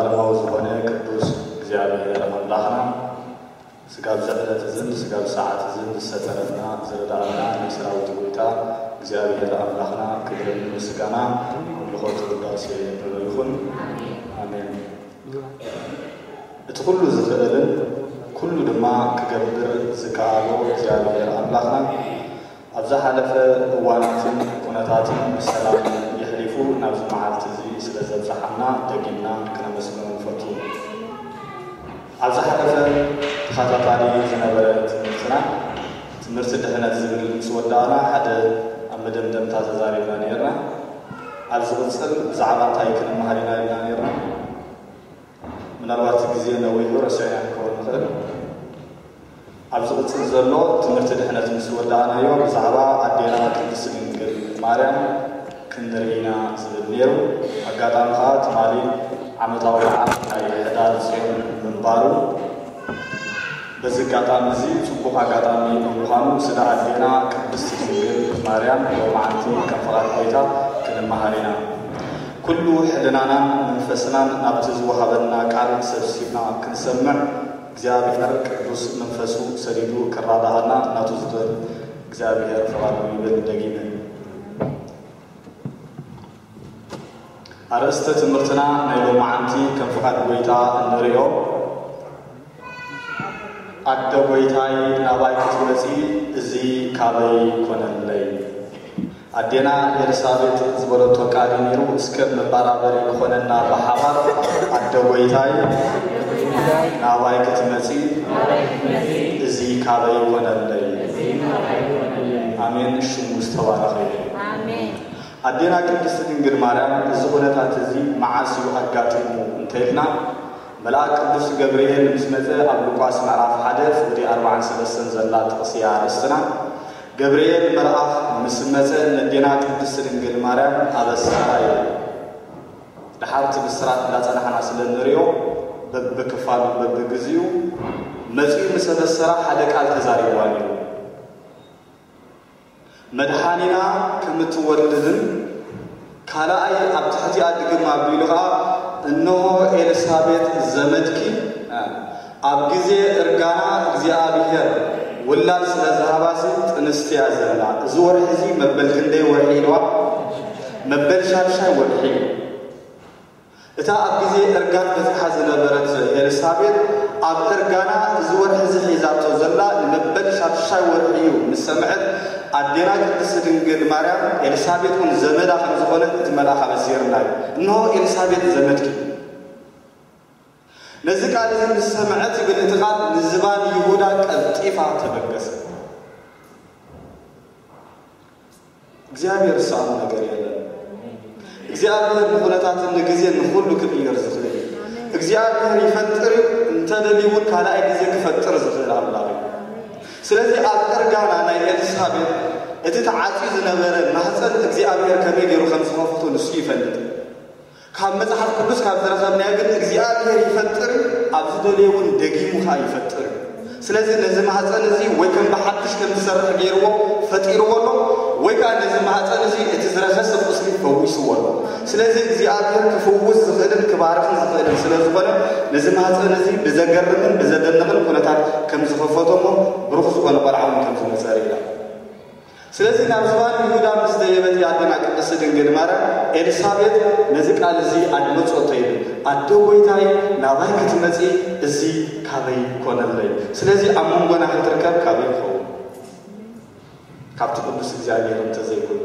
ዘላለማዊ ዝኾነ ቅዱስ እግዚኣብሔር ኣምላኽና፣ ስጋብ ዘዕለት እዝን ስጋብ ሰዓት እዝን ዝሰተረና ዝረዳእና ናይ ሰራዊት ጎይታ እግዚኣብሔር ኣምላኽና ክብርን ምስጋና ኣምልኾት ውዳሴ ንዕኡ ይኹን። ኣሜን። እቲ ኩሉ ዝኽእልን ኩሉ ድማ ክገብር ዝከኣሎ እግዚኣብሔር ኣምላኽና፣ ኣብ ዝሓለፈ እዋናትን ኩነታትን ብሰላም የሕሊፉ ናብዚ መዓልቲ እዚ ስለ ዘብጽሓና ደጊምና ክነመስግኖ ንፈቱ። ኣብ ዝሓለፈ ተኸታታሊ ዝነበረ ትምህርትና፣ ትምህርቲ ድሕነት ዝብል ምስ ወዳእና፣ ሓደ ኣብ መደምደምታ ተዛሪብና ነይርና። ኣብ ዝቕጽል ብዛዕባ እንታይ ክንመሃር ኢና ኢልና ነይርና? ምናልባት ግዜ ነዊሑ ረሲዕና ክንከውን ንኽእል። ኣብ ዝቕጽል ዘሎ ትምህርቲ ድሕነት ምስ ወዳእናዮ፣ ብዛዕባ ኣዴና ቅድስት ድንግል ማርያም ክንርኢ ኢና ዝብል ነይሩ። ኣጋጣሚ ኸኣ ትማሊ ዓመታዊ በዓል ናይ ሕዳር ጽዮን ምንባሩ፣ በዚ ኣጋጣሚ እዚ ጽቡቕ ኣጋጣሚ ብምዃኑ፣ ስለ ኣዴና ቅድስት ድንግል ማርያም ሎማዓንቲ ከም ፍቓድ ጎይታ ክንመሃር ኢና። ኩሉ ሕልናናን መንፈስናን ናብቲ ዝወሃበና ቃል ሰብሲብና ክንሰምዕ፣ እግዚኣብሔር ቅዱስ መንፈሱ ሰዲዱ ከራድኣና ናቱ ዝኽእል እግዚኣብሔር ፍቓዱ ይብል። ደጊመ፣ ኣርእስተ ትምህርትና ናይ ሎማዓንቲ ከም ፍቓድ ጎይታ እንርእዮ፣ ኣደ ጎይታይ ናባይ ክትመጺ እዚ ካበይ ኮነለይ? ኣዴና ኤልሳቤጥ ዝበለቶ ቃል እዩ ነይሩ። እስከ መባራበሪ ክኾነና ብሓባር፣ ኣደ ጎይታይ ናባይ ክትመጺ እዚ ካበይ ኮነለይ? ኣሜን። ሽሙ ዝተባረኸ ይኹን። ኣሜን። ኣዴና ቅድስቲ ድንግል ማርያም እዚ ኩነታት እዚ መዓስ እዩ ኣጋጢሙ እንተኢልና፣ መልኣክ ቅዱስ ገብርኤል ምስ መጸ፣ ኣብ ሉቃስ ምዕራፍ ሓደ ፍቕዲ ኣርባዓን ሰለስተን ዘላ ጥቕሲ እያ ኣርእስትና። ገብርኤል መልኣኽ ምስ መጸ፣ ነዴና ቅድስቲ ድንግል ማርያም ኣበሰራ ይብል። ደሓር እቲ ብስራት እንዳጸናሕና ስለ እንርእዮ፣ በብክፋሉ በብግዚኡ መጺኡ ምስ ኣበሰራ ሓደ ቃል ተዛሪብዋ ነይሩ። መድሓኒና ከም እትወልድን ካልኣይ ኣብ ትሕቲኣ ድግም ኣቢሉ ኸኣ፣ እንሆ ኤልሳቤጥ ዘመድኪ ኣብ ግዜ እርጋና እግዚኣብሔር ውላድ ስለ ዝሃባሲ ጥንስቲ እያ ዘላ። እዚ ወርሒ እዚ መበል ክንደይ ወርሒ ኢልዋ? መበል ሻድሻይ ወርሒ እዩ። እታ ኣብ ግዜ እርጋን በጺሓ ዝነበረት ኤልሳቤጥ፣ ኣብ እርጋና እዚ ወርሒ እዚ ሒዛቶ ዘላ ንመበል ሻድሻይ ወርሒ እዩ ምስ ሰምዐት፣ ኣዴና ቅድስቲ ድንግል ማርያም፣ ኤልሳቤጥ እውን ዘመዳ ከም ዝኾነት እቲ መልኣኽ ኣበሲርና እዩ። እንሆ ኤልሳቤጥ ዘመድኪ። ነዚ ቃል እዚ ምስ ሰምዐት ይብል እቲ ቃል፣ ንዝባን ይሁዳ ቀልጢፋ ተበገሰ። እግዚኣብሔር ዝሰኣኖ ነገር የለን። እግዚኣብሔር ንኹነታትን ንግዜን ንኹሉ ክቕይር ዝኽእል እዩ። እግዚኣብሔር ይፈጥር እዩ፣ እንተደልዩ እውን ካልኣይ ግዜ ክፈጥር ዝኽእል ኣምላኽ እዩ። ስለዚ ኣብ እርጋና ናይ ኤልሳቤጥ እቲ ተዓጽዩ ዝነበረ ማህፀን እግዚኣብሔር ከመይ ገይሩ ከም ዝኸፈቶ ንሱ ይፈልጥ። ካብ መጽሓፍ ቅዱስ ካብ ዝረኸብናዮ ግን እግዚኣብሔር ይፈጥር እዩ፣ ኣብ ዝደለየ እውን ደጊሙ ኸዓ ይፈጥር እዩ። ስለዚ ነዚ ማህፀን እዚ ወይ ከም ብሓድሽ ከም ዝሰርሕ ገይርዎ ፈጢርዎ ኣሎ፣ ወይ ከዓ ነዚ ማህፀን እዚ እቲ ዝረኸሰ ቁስሊ ፈዊስዎ ኣሎ። ስለዚ እግዚኣብሔር ክፍውስ ዝኽእልን ክባርኽን ዝኽእልን ስለ ዝኾነ ነዚ ማህፀን እዚ ብዘገርምን ብዘደንቕን ኩነታት ከም ዝኸፈቶ እሞ ብሩኽ ዝኾነ ቆልዓ እውን ከም ዝመፀ ርኢና። ስለዚ ናብ ዝባን ይሁዳ ምስ ደየበት ኣዴና ቅድስቲ ድንግል ማርያም ኤልሳቤጥ ነዚ ቃል እዚ ኣድመጾቶ ይብል፣ ኣደ ጎይታይ ናባይ ክትመጺ እዚ ካበይ ኮነለይ? ስለዚ ኣብ መንጎና ክትርከብ ካበይ ይኸውን? ካብቲ ቅዱስ እግዚኣብሔር እንተዘይኮይኑ።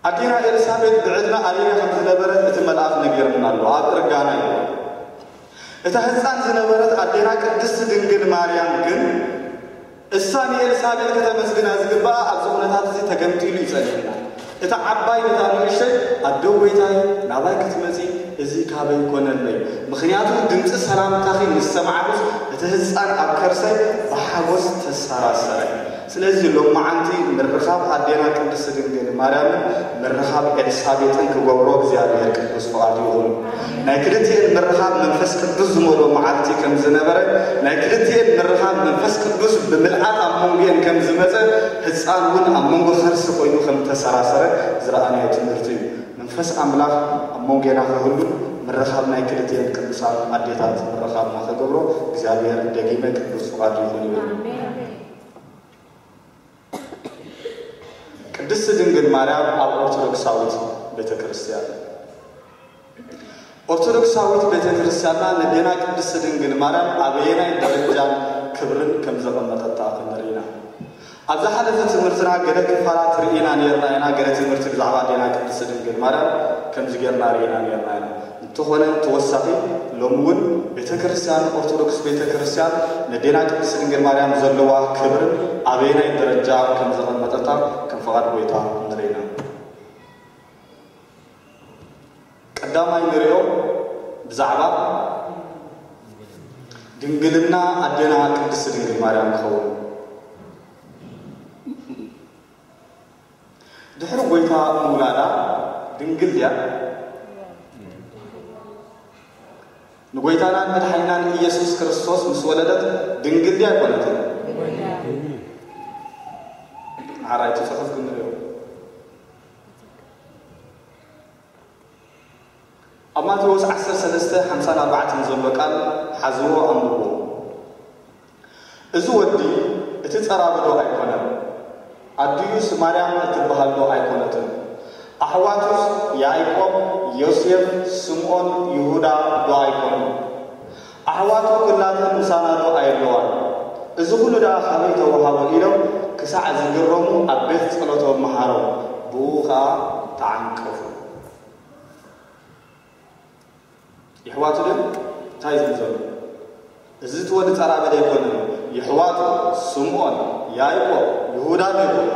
ኣዴና ኤልሳቤጥ ብዕድመ ኣረጋ ከም ዝነበረት እቲ መልኣኽ ነጊሩና ኣሎ። ኣብ እርጋና እዩ። እታ ህፃን ዝነበረት ኣዴና ቅድስቲ ድንግል ማርያም ግን እሳ ንኤልሳቤጥ ከተመስግና ዝግባኣ ኣብዚ ኩነታት እዚ ተገምጢሉ እዩ ጸኒሕና። እታ ዓባይ ነታ ንእሽተይ ኣደ ጎይታይ ናባይ ክትመጺ እዚ ካበይ ኮነለይ? ምኽንያቱ ድምፂ ሰላምታኺ ምስ ሰማዕኩስ እቲ ህፃን ኣብ ከርሰይ ብሓጎስ ተሰራሰረ። ስለዚ ሎማዓንቲ ምርኻብ ኣዴና ቅድስቲ ድንግል ማርያምን ምርኻብ ኤልሳቤጥን ክገብሮ እግዚኣብሔር ቅዱስ ፍቓዱ ይኹን። ናይ ክልቲኤን ምርኻብ መንፈስ ቅዱስ ዝመልኦ መዓልቲ ከም ዝነበረ፣ ናይ ክልቲኤን ምርኻብ መንፈስ ቅዱስ ብምልኣት ኣብ መንጎኤን ከም ዝመጸ፣ ህፃን እውን ኣብ መንጎ ከርሲ ኮይኑ ከም ተሰራሰረ ዝረኣናዮ ትምህርቲ እዩ። መንፈስ ኣምላኽ መንጎና ክህሉ ምርኻብ ናይ ክልቲኤን ቅዱሳን ኣዴታት ምርኻብና ክገብሮ እግዚኣብሔር ደጊመ ቅዱስ ፍቓዱ ይኹን ይብል። ቅድስት ድንግል ማርያም ኣብ ኦርቶዶክሳዊት ቤተ ክርስቲያን። ኦርቶዶክሳዊት ቤተ ክርስቲያንና ነዴና ቅድስት ድንግል ማርያም ኣበየናይ ደረጃን ክብርን ከም ዘቐመጠታ ክንርኢ ኢና። ኣብ ዝሓለፈ ትምህርትና ገለ ክፋላት ርኢና ነይርና ኢና። ገለ ትምህርቲ ብዛዕባ ኣዴና ቅድስት ድንግል ማርያም ከምዚ ጌርና ርኢና ነይርና ኢና። እንተኾነ ተወሳኺ ሎሚ እውን ቤተ ክርስቲያን ኦርቶዶክስ ቤተ ክርስቲያን ነዴና ቅድስት ድንግል ማርያም ዘለዋ ክብርን ኣበየናይ ደረጃ ከም ዘቐመጠታ ከም ፍቓድ ጎይታ ንርኢ ኢና። ቀዳማይ ንሪኦ ብዛዕባ ድንግልና ኣዴና ቅድስት ድንግል ማርያም ክኸውን። ድሕሪ ጎይታ ምውላዳ ድንግል ድያ? ንጎይታናን መድሓኒናን ኢየሱስ ክርስቶስ ምስ ወለደት ድንግል ድያ ኣይኮነትን? ሓራይ እቲ ጽሑፍ ክንሪኦ። ኣብ ማቴዎስ ዓሰርተ ሰለስተ ሓምሳን ኣርባዕተን ዘሎ ቃል ሓዝዎ ኣንብቦ። እዚ ወዲ እቲ ጸራቢ ዶ ኣይኮነን? ኣዲኡስ ማርያም እትበሃል ዶ ኣይኮነትን? ኣሕዋቱስ ያዕቆብ፣ ዮሴፍ፣ ስምዖን፣ ይሁዳ ዶ ኣይኮኑን? ኣሕዋቱ ኩላተን ምሳና ዶ ኣየለዋን? እዚ ኹሉ ደኣ ካበይ ተወሃቦ? ኢሎም ክሳዕ ዝግረሙ ኣብ ቤት ጸሎቶም መሃሮም፣ ብኡ ኸኣ ተዓንቀፉ። የሕዋቱ ድም እንታይ ዝብል ዘሎ? እዚ እቲ ወዲ ጸራቢ ዶ ኣይኮነን? የሕዋቱ ስምዖን፣ ያዕቆብ፣ ይሁዳ ዶ ኣይኮኑን?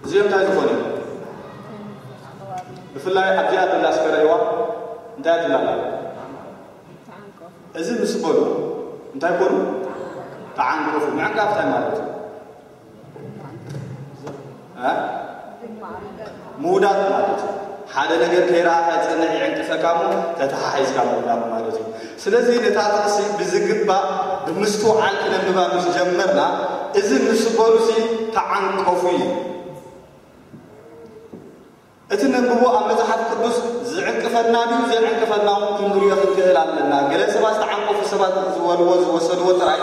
እዚኦም እንታይ ዝኾኑ እዮም? ብፍላይ ኣብዚኣ ዘላ እስከ ረእይዋ፣ እንታይ ትብላ ኣላ? እዚ ምስ በሉ እንታይ ኮኑ? ተዓንቀፉ። ምዕንቃፍ እንታይ ማለት እዩ? እ? ምውዳድ ማለት እዩ። ሓደ ነገር ከይረኣኻ ይጸንሕ፣ ይዕንቅፈካ እሞ ተተሓሒዝካ ምውዳድ ማለት እዩ። ስለዚ ነታ ጥቕሲ ብዝግባእ ብምስትውዓል ክነንብባ ምስ ጀመርና፣ እዚ ምስ በሉሲ ተዓንቀፉ እዩ። እቲ ነንብቦ ኣብ መጽሓፍ ቅዱስ ዝዕንቅፈና ድዩ ዘይዕንቅፈና እውን ክንሪኦ ክንክእል ኣለና። ገለ ሰባት ዝተዓንቀፉ ሰባት ዝበልዎ ዝወሰድዎ ጥራይ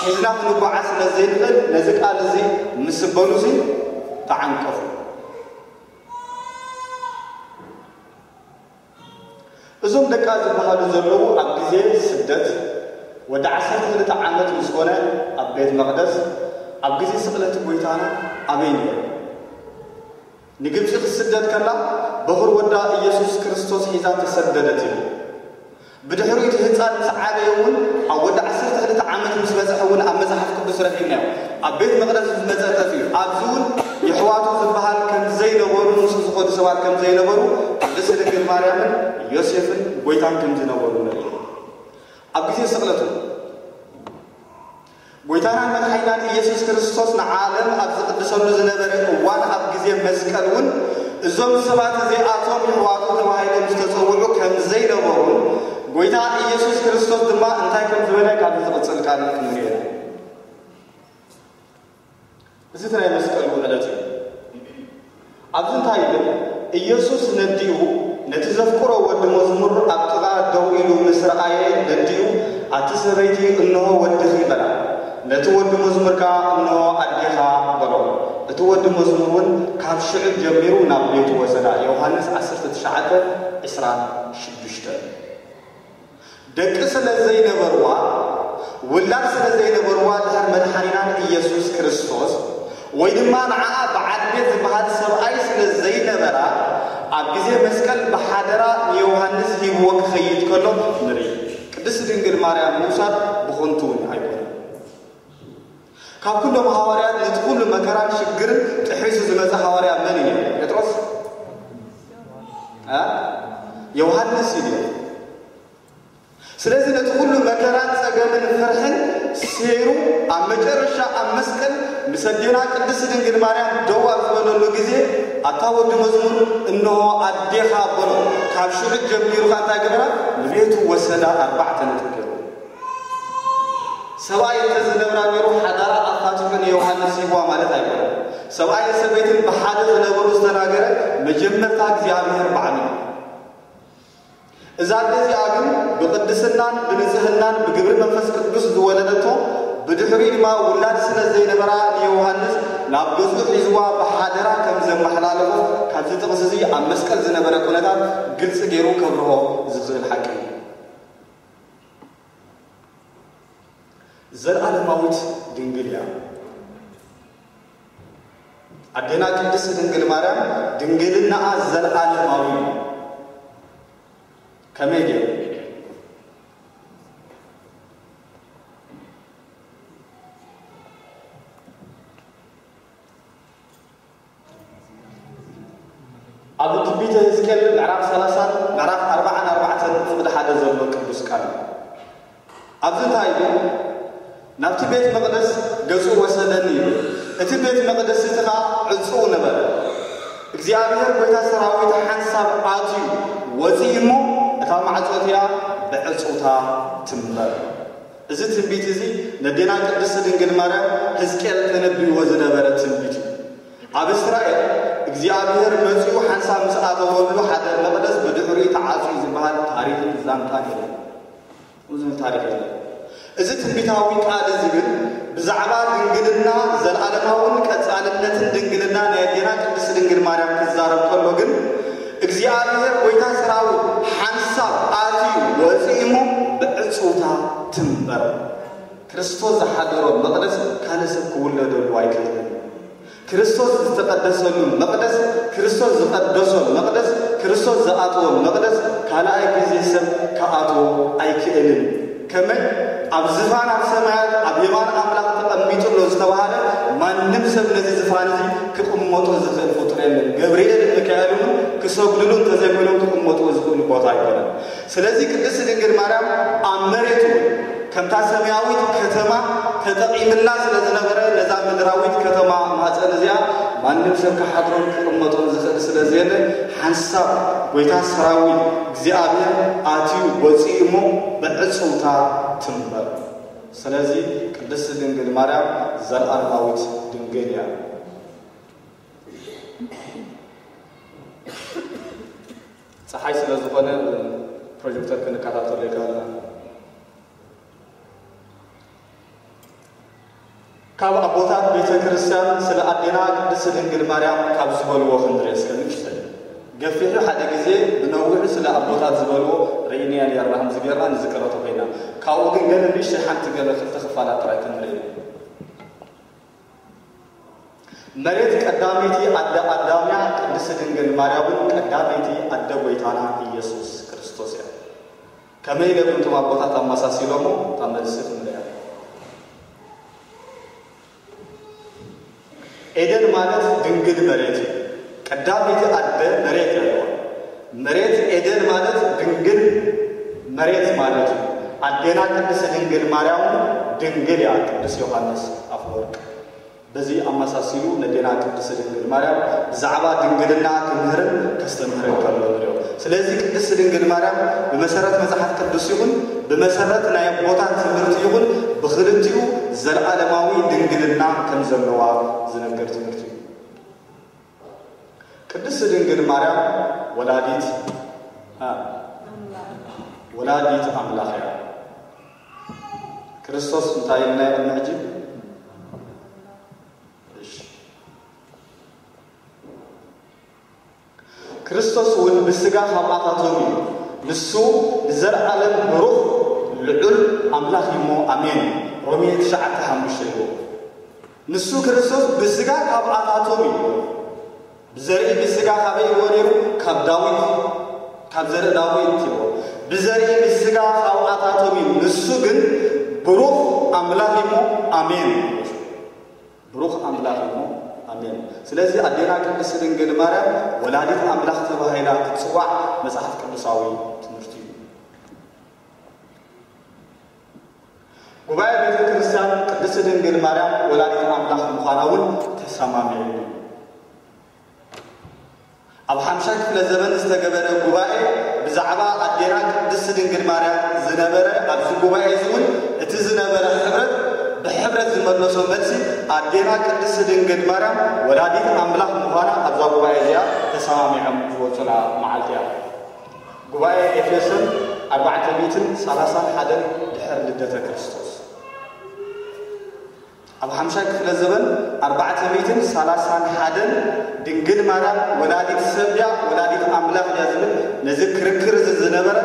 ሒዝና ክንጓዓዝ ስለ ዘይንኽእል፣ ነዚ ቃል እዚ ምስ በሉሲ ተዓንቀፉ። እዞም ደቃ ዝበሃሉ ዘለዉ ኣብ ግዜ ስደት ወዲ ዓሰርተ ክልተ ዓመት ምስ ኮነ ኣብ ቤት መቕደስ፣ ኣብ ግዜ ስቕለት ጎይታና ኣበይ ነይሩ? ንግብጺ ክትስደድ ከላ በኹር ወዳ ኢየሱስ ክርስቶስ ሒዛ ተሰደደት እዩ። ብድሕሪኡ እቲ ህጻን ምስ ዓበየ እውን ኣብ ወዲ ዓሰርተ ክልተ ዓመት ምስ በጽሐ እውን ኣብ መጽሓፍ ቅዱስ ረኺብናዮ። ኣብ ቤት መቕደስ ምስ መጸ ጠፊኡ። ኣብዚ እውን የሕዋቱ ዝበሃል ከም ዘይነበሩ፣ ምስ ዝኸዱ ሰባት ከም ዘይነበሩ፣ ቅድስት ድንግል ማርያምን ዮሴፍን ጎይታን ከም ዝነበሩ ንርኢ። ኣብ ግዜ ስቕለቱ ጎይታናን መድሓኒናን ኢየሱስ ክርስቶስ ንዓለም ኣብ ዝቕድሰሉ ዝነበረ እዋን፣ ኣብ ግዜ መስቀል እውን እዞም ሰባት እዚኣቶም የሕዋቱ ተባሂሎም ዝተጸውዑ ከም ዘይነበሩን፣ ጎይታ ኢየሱስ ክርስቶስ ድማ እንታይ ከም ዝበለ ካብዚ ዝቕጽል ቃል ክንርኢ ኢና። እዚ እቲ ናይ መስቀሉ ዕለት እዩ። ኣብዚ እንታይ ይብል? ኢየሱስ ነዲኡ ነቲ ዘፍቅሮ ወዲ መዝሙር ኣብ ጥቓ ደው ኢሉ ምስ ረኣየ ነዲኡ፣ ኣቲ ሰበይቲ፣ እንሆ ወድኺ በላ። ነቲ ወዲ መዝሙር ከኣ እንሆ ኣዴኻ በሎ። እቲ ወዲ መዝሙር እውን ካብ ሽዑ ጀሚሩ ናብ ቤቱ ወሰዳ። ዮሃንስ ዓሰርተ ትሽዓተ ዕስራን ሽዱሽተን። ደቂ ስለ ዘይነበርዋ፣ ውላድ ስለ ዘይነበርዋ፣ ድሕር መድሓኒናን ኢየሱስ ክርስቶስ ወይ ድማ ንዓኣ በዓል ቤት ዝበሃል ሰብኣይ ስለ ዘይነበራ፣ ኣብ ግዜ መስቀል ብሓደራ ንዮሃንስ ሂብዎ ክኸይድ ከሎ ንርኢ። ቅድስት ድንግል ማርያም ምውሳድ ብኸንቱ እውን ኣይኮነን። ካብ ኩሎም ሃዋርያት ነቲ ኩሉ መከራን ሽግርን ጥሒሱ ዝመጸ ሃዋርያ መን እዩ? ጴጥሮስ? እ? ዮሃንስ እዩ። ስለዚ ነቲ ኩሉ መከራን ጸገምን ፍርሕን ሴሩ ኣብ መጨረሻ ኣብ መስቀል ምስ ኣዴና ቅድስት ድንግል ማርያም ደው ኣብ ዝበለሉ ግዜ፣ ኣታ ወዲ መዝሙር፣ እንሆ ኣዴኻ በሎ። ካብ ሽዑ ጀሚሩ ኸኣ እንታይ ገበራ? ንቤቱ ወሰዳ። ኣርባዕተ ነጥቢ ገይሩ። ሰብኣይ እንተ ዝነብራ ነይሩ ሓዳራ ኣፋቲሑ ንዮሃንስ ሂብዋ ማለት ኣይኮነን። ሰብኣይን ሰበይትን ብሓደ ክነብሩ ዝተናገረ መጀመርታ እግዚኣብሔር ባዕሉ እዩ። እዛ ኣደ እዚኣ ግን ብቕድስናን ብንጽህናን ብግብሪ መንፈስ ቅዱስ ዝወለደቶ፣ ብድሕሪኡ ድማ ውላድ ስለ ዘይነበራ ንዮሃንስ ናብ ገዝኡ ሒዝዋ ብሓደራ ከም ዘመሓላለፎ ካብዚ ጥቕሲ እዚ ኣብ መስቀል ዝነበረ ኩነታት ግልጺ ገይሩ ከብርሆ ዝኽእል ሓቂ እዩ። ዘለዓለማዊት ድንግል እያ። ኣዴና ቅድስት ድንግል ማርያም ድንግልናኣ ዘለዓለማዊ እዩ። ከመይ ገይሩ? ኣብ ትንቢተ ሕዝቅኤል ምዕራፍ ሰላሳን ምዕራፍ ኣርባዓን ኣርባዕተን ፍቕዲ ሓደ ዘሎ ቅዱስ ቃል እዩ። ኣብዚ እንታይ ኢሉ? ናብቲ ቤት መቕደስ ገጹ ወሰደኒ ኢሉ። እቲ ቤት መቕደስ እቲ ኸኣ ዕጹው ነበረ። እግዚኣብሔር ጐይታ ሰራዊት ሓንሳብ ኣትዩ ወጺኡ እሞ፣ እታ ማዕጾ እቲኣ ብዕጹውታ ትንበር። እዚ ትንቢት እዚ ነዴና ቅድስቲ ድንግል ማርያም ሕዝቅኤል ተነቢይዎ ዝነበረ ትንቢት እዩ። ኣብ እስራኤል እግዚኣብሔር መጺኡ ሓንሳብ ምስ ኣተወሉ ሓደ መቕደስ ብድሕሪኡ ተዓጽዩ ዝበሃል ታሪኽን ዛንታን የለን። ብዙ ታሪኽ የለን። እዚ ትንቢታዊ ቃል እዚ ግን ብዛዕባ ድንግልና፣ ዘለዓለማውን ቀጻልነትን ድንግልና ናይ ኣዴና ቅድስቲ ድንግል ማርያም ክዛረብ ከሎ ግን እግዚኣብሔር ጐይታ ሰራዊት ሓንሳብ ኣትዩ ወፂኡ እሞ ብዕፁውታ ትንበር። ክርስቶስ ዝሓደሮ መቕደስ ካልእ ሰብ ክውለደሉ ኣይክእልን። ክርስቶስ ዝተቐደሰሉ መቕደስ፣ ክርስቶስ ዝቐደሶ መቕደስ፣ ክርስቶስ ዝኣትዎ መቕደስ ካልኣይ ግዜ ሰብ ክኣትዎ ኣይክእልን። ከመይ ኣብ ዝፋን ኣብ ሰማያት ኣብ የማን ኣምላኽ ተቐሚጡ ኣሎ ዝተባህለ፣ ማንም ሰብ ነዚ ዝፋን እዚ ክቕመጦ ዝኽእል ፍጡር የለን። ገብርኤልን ሚካኤልን እውን ክሰግድሉ እንተዘይኮይኖም ክቕመጥዎ ዝኽእሉ ቦታ ኣይኮነን። ስለዚ ቅድስቲ ድንግል ማርያም ኣብ መሬት እውን ከምታ ሰማያዊት ከተማ ተጠቒምላ ስለ ዝነበረ፣ ነዛ ምድራዊት ከተማ ማፀን እዚኣ ማንም ሰብ ክሓድሮን ክቕመጦን ዝኽእል ስለ ዘየለ፣ ሓንሳብ ጐይታ ሰራዊት እግዚኣብሔር ኣትዩ ወፂኡ እሞ ብዕፅውታ ትንበር። ስለዚ ቅድስቲ ድንግል ማርያም ዘለኣለማዊት ድንግል እያ። ፀሓይ ስለ ዝኾነ ፕሮጀክተር ክንከታተሎ ይከኣልና። ካብ ኣቦታት ቤተ ክርስቲያን ስለ ኣዴና ቅድስቲ ድንግል ማርያም ካብ ዝበልዎ ክንርኢ እስከ ንእሽተይ። ገፊሑ ሓደ ግዜ ብነዊሑ ስለ ኣቦታት ዝበልዎ ርኢናያ ነርና፣ ከምዚ ጌርና ንዝክረቶ ኮይና። ካብኡ ግን ገለ ንእሽተይ ሓንቲ ገለ ክልተ ክፋላት ጥራይ ክንርኢ። መሬት ቀዳመይቲ ኣደ ኣዳም እያ፣ ቅድስቲ ድንግል ማርያም እውን ቀዳመይቲ ኣደ ጐይታና ኢየሱስ ክርስቶስ እያ። ከመይ ኢሎም እቶም ኣቦታት ኣመሳሲሎሞ? እታ መልሲ ክንሪኣ። ኤደን ማለት ድንግል መሬት እዩ። ቀዳመይቲ ኣደ መሬት እያ። መሬት ኤደን ማለት ድንግል መሬት ማለት እዩ። ኣዴና ቅድስቲ ድንግል ማርያም እውን ድንግል እያ። ቅዱስ ዮሃንስ ኣፈወርቅ በዚ ኣመሳሲሉ ነዴና ቅድስቲ ድንግል ማርያም ብዛዕባ ድንግልና ክምህርን ከስተምህርን ከሎ ንሪኦ። ስለዚ ቅድስቲ ድንግል ማርያም ብመሰረት መጽሓፍ ቅዱስ ይኹን ብመሰረት ናይ ኣቦታት ትምህርቲ ይኹን ብኽልቲኡ ዘለዓለማዊ ድንግልና ከም ዘለዋ ዝነግር ትምህርቲ እዩ። ቅድስቲ ድንግል ማርያም ወላዲት እ፣ ወላዲት ኣምላኽ እያ። ክርስቶስ እንታይ ኢልና ኢና ሕጂ? እሺ። ክርስቶስ እውን ብስጋ ካብኣታቶም እዩ። ንሱ ንዘለዓለም ብሩኽ ልዑል ኣምላኽ እዩ እሞ፣ ኣሜን። ሮሜ ትሽዓተ ሓሙሽተ ይብሎ። ንሱ ክርስቶስ ብስጋ ካብኣታቶም እዩ። ብዘርኢ ብስጋ ካበይ ይብሎ ነይሩ? ካብ ዳዊት፣ ካብ ዘርኢ ዳዊት ይብሎ። ብዘርኢ ብስጋ ካብኣታቶም እዩ። ንሱ ግን ብሩኽ ኣምላኽ እዩ እሞ፣ ኣሜን። ብሩኽ ኣምላኽ እዩ እሞ፣ ኣሜን። ስለዚ ኣዴና ቅድስቲ ድንግል ማርያም ወላዲት ኣምላኽ ተባሂላ ክትጽዋዕ መጽሓፍ ቅዱሳዊ ትምህርቲ እዩ። ጉባኤ ቤተ ክርስቲያን ቅድስቲ ድንግል ማርያም ወላዲት ኣምላኽ ምዃና እውን ተሰማሚዑ እዩ። ኣብ ሓምሻይ ክፍለ ዘመን ዝተገበረ ጉባኤ ብዛዕባ ኣዴና ቅድስቲ ድንግል ማርያም ዝነበረ፣ ኣብዚ ጉባኤ እዚ እውን እቲ ዝነበረ ሕብረት ብሐ-፣ ሕብረት ዝመለሶ መልሲ ኣዴና ቅድስት ድንግል ማርያም ወላዲት ኣምላኽ ምዃና ኣብዛ ጉባኤ እዚኣ ተሰማሚዖም ዝወፁላ መዓልቲ እያ። ጉባኤ ኤፌሶን ኣርባዕተ ሚእትን ሰላሳን ሓደን ድሕሪ ልደተ ክርስቶስ። ኣብ ሓምሻይ ክፍለ ዘበን ኣርባዕተ ሚእትን ሰላሳን ሓደን ድንግል ማርያም ወላዲት ሰብ ድያ ወላዲት ኣምላኽ ድያ ዝብል ነዚ ክርክር እዚ ዝነበረ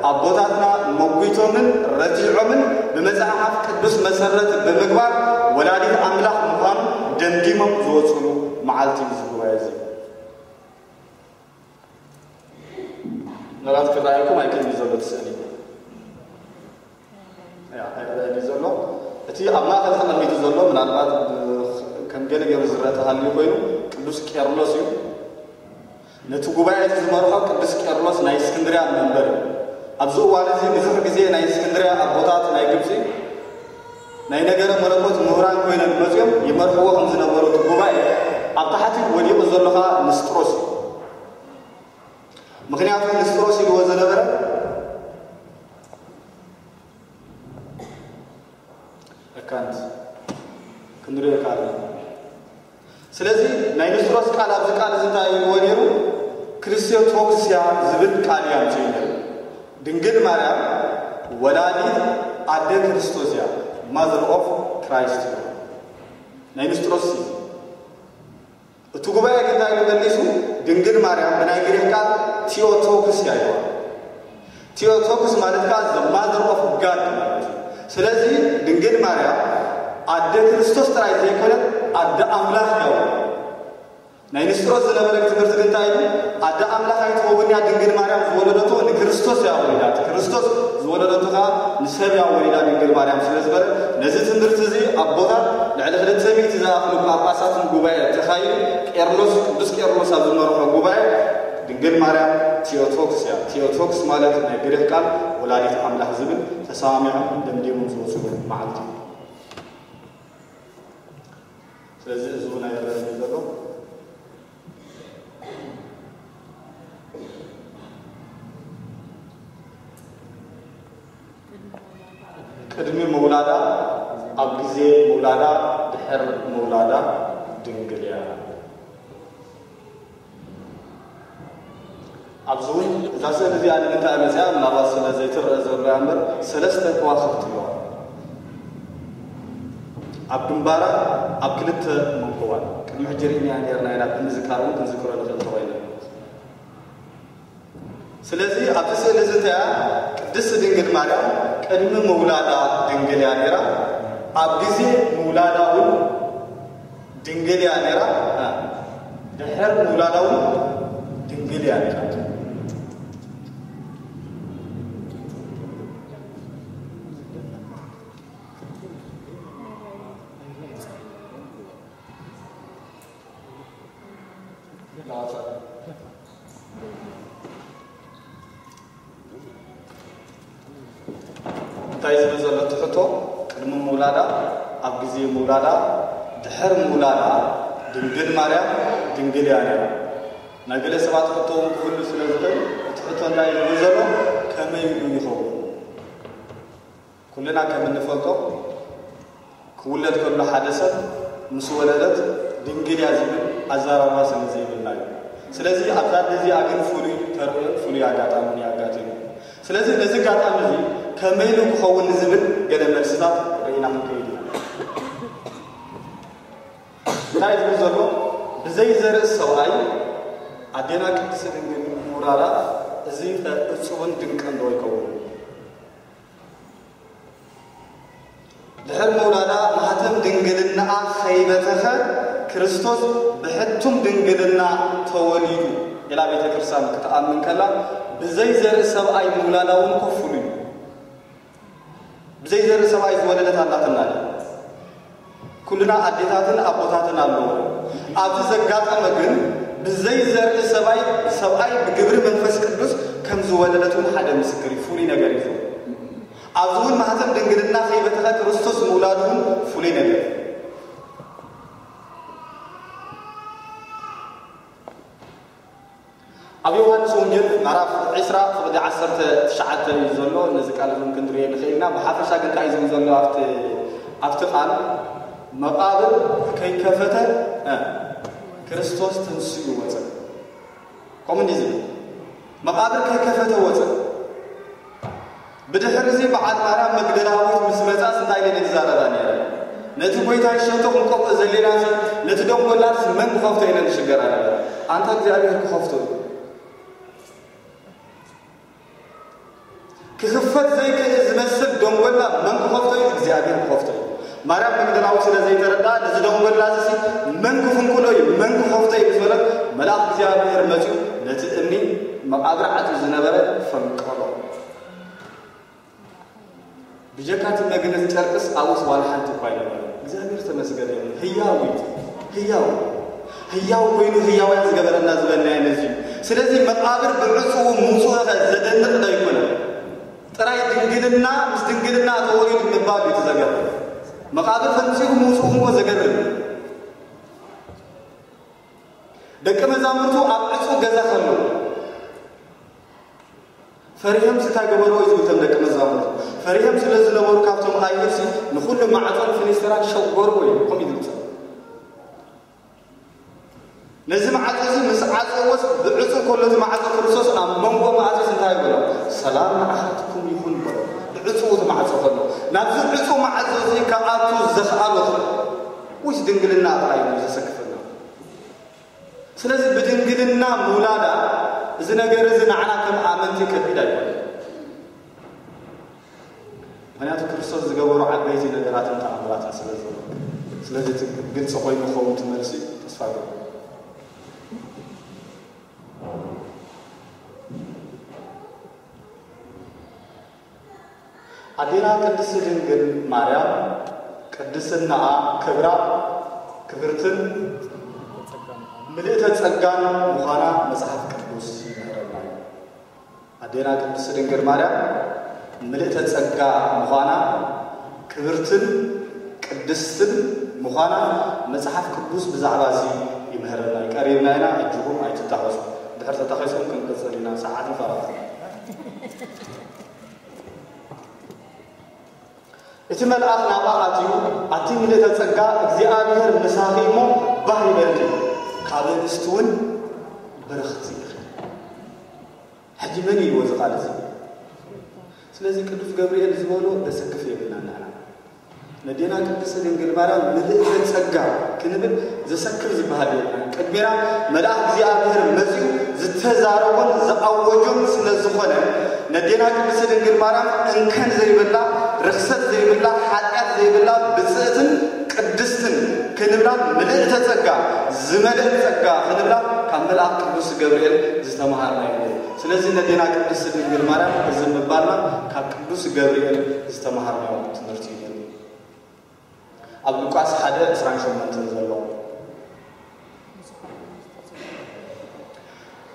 ኣቦታትና መጒቶምን ረቲዖምን ብመጽሓፍ ቅዱስ መሰረት ብምግባር ወላዲት ኣምላኽ ምዃኑ ደምዲሞም ዝወፅሉ መዓልቲ እዩ እዚ ጉባኤ እዚ። ምናልባት ክረኣየኩም ኣይክእልን እዩ ዘሎ እቲ ስእሊ። ያ፣ ኣይረኣየን እዩ ዘሎ። እቲ ኣብ ማእከል ተቐሚጡ ዘሎ ምናልባት ብ-፣ ከም ገለ ገይሩ ዝረአ ተሃልዩ ኮይኑ ቅዱስ ቄርሎስ እዩ። ነቲ ጉባኤ እቲ ዝመርሖ ቅዱስ ቄርሎስ ናይ እስክንድርያ መንበር እዩ። ኣብዚ እዋን እዚ ብዙሕ ግዜ ናይ እስክንድርያ ኣቦታት ናይ ግብጺ ናይ ነገረ መለኮት ምሁራን ኮይኖም መጺኦም ይመርሕዎ ከም ዝነበሩ እቲ ጉባኤ ኣብ ታሕቲ ወዲቑ ዘሎ ኸኣ ንስጥሮስ እዩ። ምኽንያቱ ንስጥሮስ ኢልዎ ዝነበረ ኣካንት ክንሪኦ ካልእ። ስለዚ ናይ ንስጥሮስ ቃል ኣብዚ ቃል እዚ እንታይ ኢልዎ ነይሩ? ክርስቶቶክስ እያ ዝብል ቃል እዩ ኣምፂኡ ነይሩ። ድንግል ማርያም ወላዲት ኣደ ክርስቶስ እያ፣ ማዘር ኦፍ ክራይስት እዩ። ናይ ንስጥሮስ እዩ። እቲ ጉባኤ ግን እንታይ ኢሉ መሊሱ? ድንግል ማርያም ብናይ ግሪክ ቃል ቲዮቶክስ እያ ኢልዋ። ቲዮቶክስ ማለት ከዓ the mother of God ማለት እዩ። ስለዚ ድንግል ማርያም ኣደ ክርስቶስ ጥራይ ዘይኮነት ኣደ ኣምላኽ እያ። ናይ ንስጥሮስ ዝነበረ ትምህርቲ ግን እንታይ ኢሉ? ኣደ ኣምላኽ ኣይትኸውን እያ ድንግል ማርያም ዝወለደቶ ንክርስቶስ እያ ወሊዳ። እቲ ክርስቶስ ዝወለደቶ ከዓ ንሰብ እያ ወሊዳ ድንግል ማርያም ስለ ዝበለ ነዚ ትምህርቲ እዚ ኣቦታት ልዕሊ ክልተ ሚእቲ ዝኣኽሉ ጳጳሳትን ጉባኤ ተኻይዱ ቄርሎስ፣ ቅዱስ ቄርሎስ ኣብ ዝመርሖ ጉባኤ ድንግል ማርያም ቲዮቶክስ እያ። ቲዮቶክስ ማለት ናይ ግሪክ ቃል ወላዲት ኣምላኽ ዝብል ተሰማሚዖም ደምዲሞም ዝወፅሉ መዓልቲ እዩ። ስለዚ እዚ እውን ኣይረኣን እዩ ዘሎ። ቅድሚ ምውላዳ፣ ኣብ ግዜ ምውላዳ፣ ድሕር ምውላዳ ድንግል እያ። ኣብዚ እውን እዛ ስእሊ እዚኣ ንምንታይ መፅያ? ምናልባት ስለ ዘይትረአ ዘሎ እያ እምበር ሰለስተ ከዋኽብቲ ኣለዋ ኣብ ግንባራ፣ ኣብ ክልተ መንኮባን። ቅድሚ ሕጂ ርኢናያ ነርና ኢና፣ ብምዝካር እውን ክንዝክሮ ንኽእል እንተኾይና። ስለዚ ኣብዚ ስእሊ እዚ እንታይ እያ? ቅድስት ድንግል ማርያም ቅድሚ ምውላዳ ድንግል እያ ነይራ፣ ኣብ ግዜ ምውላዳ እውን ድንግል እያ ነይራ፣ ድሕር ምውላዳ እውን ድንግል እያ ነይራ። እንታይ ዝብል ዘሎ እቲ ሕቶ? ቅድሚ ምውላዳ፣ ኣብ ግዜ ምውላዳ፣ ድሕር ምውላዳ ድንግል ማርያም ድንግል እያ ነይራ። ናይ ገለ ሰባት ሕቶ እውን ክህሉ ስለ ዝኽእል እቲ ሕቶ እንታይ እዩ ዝብል ዘሎ? ከመይ ኢሉ ይኸውን? ኩልና ከም እንፈልጦ ክውለድ ከሎ ሓደ ሰብ ምስ ወለደት ድንግል እያ ዝብል ኣዘራርባ ስለ ዘይብልና እዩ። ስለዚ ኣብዛ ኣደ እዚኣ ግን ፍሉይ ተርእዮን ፍሉይ ኣጋጣምን እዩ ኣጋጢሙ። ስለዚ ነዚ ኣጋጣሚ እዚ ከመይ ኢሉ ክኸውን ንዝብል ገለ መልስታት ርኢና ክንከይድ ኢና። እንታይ ዝብል ዘሎ? ብዘይ ዘርኢ ሰብኣይ ኣዴና ቅድስቲ ድንግል ምውላዳ እዚ ኸ እጹብን ድንቅን ዶ ኣይከውን? ድሕር ምውላዳ ማህተም ድንግልናኣ ኸይበተኸ ክርስቶስ ብሕቱም ድንግልና ተወሊዱ ኢላ ቤተ ክርስቲያን ክትኣምን ከላ ብዘይ ዘርኢ ሰብኣይ ምውላዳ እውን ኮፍሉ እዩ። ብዘይ ዘርኢ ሰብኣይ ዝወለደት ኣላትና ድያ? ኩልና ኣዴታትን ኣቦታትን ኣለዎ። ኣብዚ ዘጋጠመ ግን ብዘይ ዘርኢ ሰብኣይ፣ ሰብኣይ ብግብሪ መንፈስ ቅዱስ ከም ዝወለደት እውን ሓደ ምስክር እዩ። ፍሉይ ነገር እዩ። ኣብዚ እውን ማህተም ድንግልና ከይበተኸ ክርስቶስ ምውላዱ እውን ፍሉይ ነገር እዩ። ኣብ ዮሃንስ ወንጌል ምዕራፍ ዕስራ ፍቕዲ ዓሰርተ ትሽዓተ እዩ ዘሎ። ነዚ ቃል እውን ክንሪኦ ንኽእል ኢና። ብሓፈሻ ግን እንታይ እዩ ዝብል ዘሎ ኣብቲ ኣብቲ ቃል መቓብር ከይከፈተ፣ እ፣ ክርስቶስ ተንሲኡ ወፀ። ከምኡ እንዲህ ዝብል መቓብር ከይከፈተ ወፀ። ብድሕሪ እዚ በዓል ማርያም መግደላዊት ምስ መጻስ እንታይ ኢለን ይዛረባ ነይረ? ነቲ ጎይታ ይሸቶ ክንቆፍኦ ዘሌናሲ፣ ነቲ ደንጎላስ መን ክኸፍቶ ኢለን ይሽገራ ነበረ። ኣንታ እግዚኣብሔር ክኸፍቶ እዩ። ክኽፈት ዘይክእል ዝመስል ደንጎላ መን ክኸፍቶ እዩ? እግዚኣብሔር ክኸፍቶ እዩ። ማርያም መግደላዊት ስለ ዘይተረድኣ፣ ነዚ ደንጎላ እዚ መን ክፍንቅሎ እዩ? መን ክኸፍቶ እዩ? ምስ በለት፣ መልኣኽ እግዚኣብሔር መጺኡ ነቲ እምኒ መቓብር ዓጽዩ ዝነበረ ፈንቀሎ። ብጀካ እቲ መግነዝ ጨርቅስ ኣብኡስ ዋላ ሓንቲ እኳ ኣይነበረ። እግዚኣብሔር ተመስገነ ይኹን። ህያው እዩ። ህያው። ህያው ኮይኑ ህያውያን ዝገበረና ዝበልናዮ ነዚ እዩ። ስለዚ መቓብር ብዕጽዉ ምውጽኡ ኸ ዘደንቕ ዶ ኣይኮነን? ጥራይ ድንግልና ምስ ድንግልና ተወሊዱ ምባል እዩ እቲ ዘገርም። መቓብር ፈንጺኡ ምውጽኡ እኮ ዘገርም እዩ። ደቂ መዛሙርቱ ኣብ ዕጹው ገዛ ከለዉ ፈሪሆም እንታይ ገበርዎ እዩ ዝብል? እቶም ደቂ መዛሙርቱ ፈሪሆም ስለ ዝነበሩ ካብቶም ኣይሁድሲ ንኹሉ ማዕጾን ፍኒስትራን ሸጎርዎ እዩ። ከምኡ እዩ ዝብል። ነዚ ማዕጾ እዚ ምስ ዓጸዎስ ብዕጹው ከሎ እቲ ማዕጾ ክርስቶስ ኣብ መንጎ ማዕጾስ እንታይ ይበሎ? ሰላም ንዓኻትኩም ይኹን በሎ። ብዕጹው እቲ ማዕጾ ከሎ ናብዚ ዕጹው ማዕጾ እዚ ክኣቱ ዘኽኣሎ ወይስ ድንግልና ጥራይ እዩ ዘሰክፈና? ስለዚ ብድንግልና ምውላዳ እዚ ነገር እዚ ንዓና ከም ኣመንቲ ከቢድ ኣይኮነን። ምኽንያቱ ክርስቶስ ዝገበሮ ዓበይቲ ነገራትን ተኣምራትን ስለ ዘሎ። ስለዚ እቲ ግልፂ ኮይኑ ክኸውን እቲ መልሲ ተስፋ ገ ኣዴና ቅድስቲ ድንግል ማርያም ቅድስናኣ ክብራ ክብርትን ምልእተ ጸጋን ምዃና መጽሓፍ ቅዱስ ይምህረና እዩ። ኣዴና ቅድስቲ ድንግል ማርያም ምልእተ ጸጋ ምዃና ክብርትን ቅድስትን ምዃና መጽሓፍ ቅዱስ ብዛዕባ እዚ ይምህረና እዩ። ቀሪብና ኢና፣ ሕጂ እውን ኣይትታኸሱ። ድሕር ተታኺስኩም ክንቅጽል ኢና፣ ሰዓት ንፈራቱ። እቲ መልኣኽ ናብኣ ኣትዩ፣ ኣቲ ምልእተ ጸጋ እግዚኣብሔር ምሳኺ እሞ ባህ ይበልኪ፣ ካብ ኣንስቲ እውን ብርኽቲ ኢኺ። ሕጂ መን እዩ እዚ ቃል እዚ? ስለዚ ቅዱስ ገብርኤል ዝበሎ ዘሰክፍ የብልናን ንሕና። ነዴና ቅድስቲ ድንግል ማርያም ምልእተ ጸጋ ክንብል ዘሰክፍ ዝበሃል የብልናን። ቅድሜና መልኣኽ እግዚኣብሔር መጺኡ ዝተዛረቦን ዝኣወጆን ስለ ዝኾነ፣ ነዴና ቅድስቲ ድንግል ማርያም እንከን ዘይብላ፣ ርኽሰት ዘይብላ፣ ሓጢኣት ዘይብላ፣ ብጽእትን ቅድስትን ክንብላ፣ ምልእተ ጸጋ፣ ዝመልአት ጸጋ ክንብላ ካብ መልኣኽ ቅዱስ ገብርኤል ዝተመሃርናዮ እዩ። ስለዚ ነዴና ቅድስቲ ድንግል ማርያም እዚ ምባልና ካብ ቅዱስ ገብርኤል ዝተመሃርናዮ ትምህርቲ እዩ። ኣብ ሉቃስ ሓደ ዕስራን ሸሞንተን ዘሎ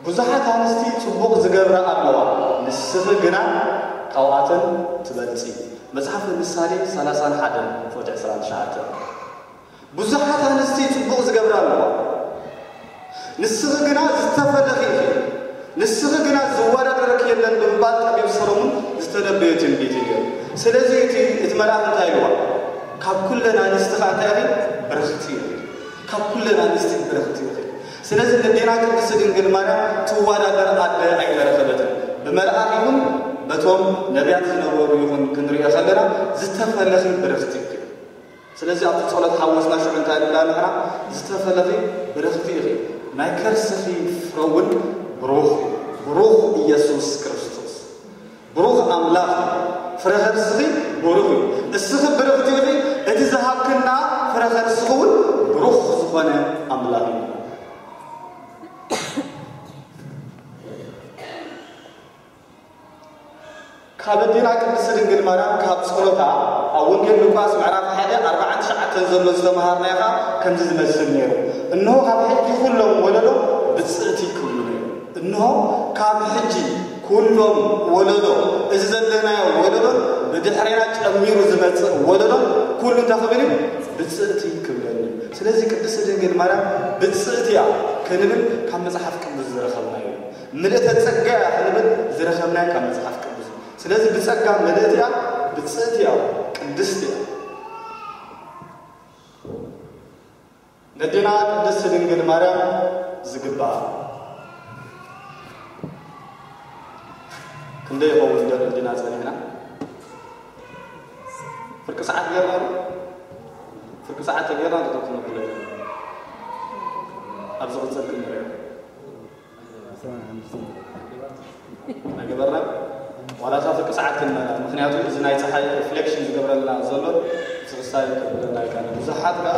ብዙሓት ኣንስቲ ጽቡቕ ዝገብራ ኣለዋ፣ ንስኺ ግና ካብኣተን ትበልጺ። መጽሓፍ ምሳሌ ሰላሳን ሓደን ቁጽሪ ዕስራን ትሽዓተን። ብዙሓት ኣንስቲ ጽቡቕ ዝገብራ ኣለዋ፣ ንስኺ ግና ዝተፈለኺ ኢኺ፣ ንስኺ ግና ዝወዳደረኪ የለን ብምባል ጠቢብ ሰሎሞን ዝተነበዮ ትንቢት እዩ ነይሩ። ስለዚ እቲ፣ እቲ መልኣኽ እንታይ ኢልዋ? ካብ ኩለን ኣንስቲ ኸኣ እንታይ ኢኺ? ብርኽቲ ኢኺ። ካብ ኩለን ኣንስቲ ብርኽቲ ኢኺ። ስለዚ ነዴና ቅድስቲ ድንግል ማርያም ትወዳደር ኣደ ኣይተረኸበትን። ብመልኣኽ ይኹን በቶም ነቢያት ዝነበሩ ይኹን ክንሪኦ ከለና ዝተፈለኺ ብርኽቲ ኢኺ። ስለዚ ኣብቲ ጸሎት ሓወስና ሽዑ እንታይ ንብላ ንሕና? ዝተፈለኺ ብርኽቲ ኢኺ፣ ናይ ከርስኺ ፍረ እውን ብሩኽ እዩ። ብሩኽ ኢየሱስ ክርስቶስ። ብሩኽ ኣምላኽ እዩ። ፍረ ከርስኺ ብሩኽ እዩ። እስኺ ብርኽቲ ኢኺ፣ እቲ ዝሃብክና ፍረ ከርስኺ እውን ብሩኽ ዝኾነ ኣምላኽ እዩ። ካብ ኣዴና ቅድስቲ ድንግል ማርያም ካብ ጸሎታ ኣብ ወንጌል ሉቃስ ምዕራፍ ሓደ ኣርባዓን ትሽዓተን ዘሎ ዝተመሃርናዮ ኸኣ ከምዚ ዝመስል ነይሩ። እንሆ ካብ ሕጂ ኩሎም ወለዶ ብጽእቲ ክብሉ ነይሩ። እንሆ ካብ ሕጂ ኩሎም ወለዶ፣ እዚ ዘለናዮ ወለዶ ብድሕሬና ጨሚሩ ዝመጽእ ወለዶ ኩሉ እንታይ ክብል እዩ? ብጽእቲ ክብለኒ እዩ። ስለዚ ቅድስቲ ድንግል ማርያም ብጽእቲ እያ ክንብል ካብ መጽሓፍ ቅዱስ ዝረኸብናዮ እዩ። ምልእተ ጸጋ እያ ክንብል ዝረኸብናዮ ካብ መጽሓፍ ቅዱስ እዩ። ስለዚ ብጸጋ ምልእቲ እያ፣ ብጽእቲ እያ፣ ቅድስቲ እያ። ነዴና ቅድስት ድንግል ማርያም ዝግባኣ ክንደይ ይኸውን ደር እንዲና ጸኒሕና? ፍርቂ ሰዓት ጌርና ዶ? ፍርቂ ሰዓት ተጌርና ዶ? ተትነብለ ኣብ ዝቕጽል ክንሪኦ ኣይገበርና። ዋላ እታ ፍርቂ ሰዓት ክንመላ፣ ምኽንያቱ እዚ ናይ ጸሓይ ሪፍሌክሽን ዝገብረልና ዘሎ እቲ ክሳይ ከብለና ይካለ። ብዙሓት ከኣ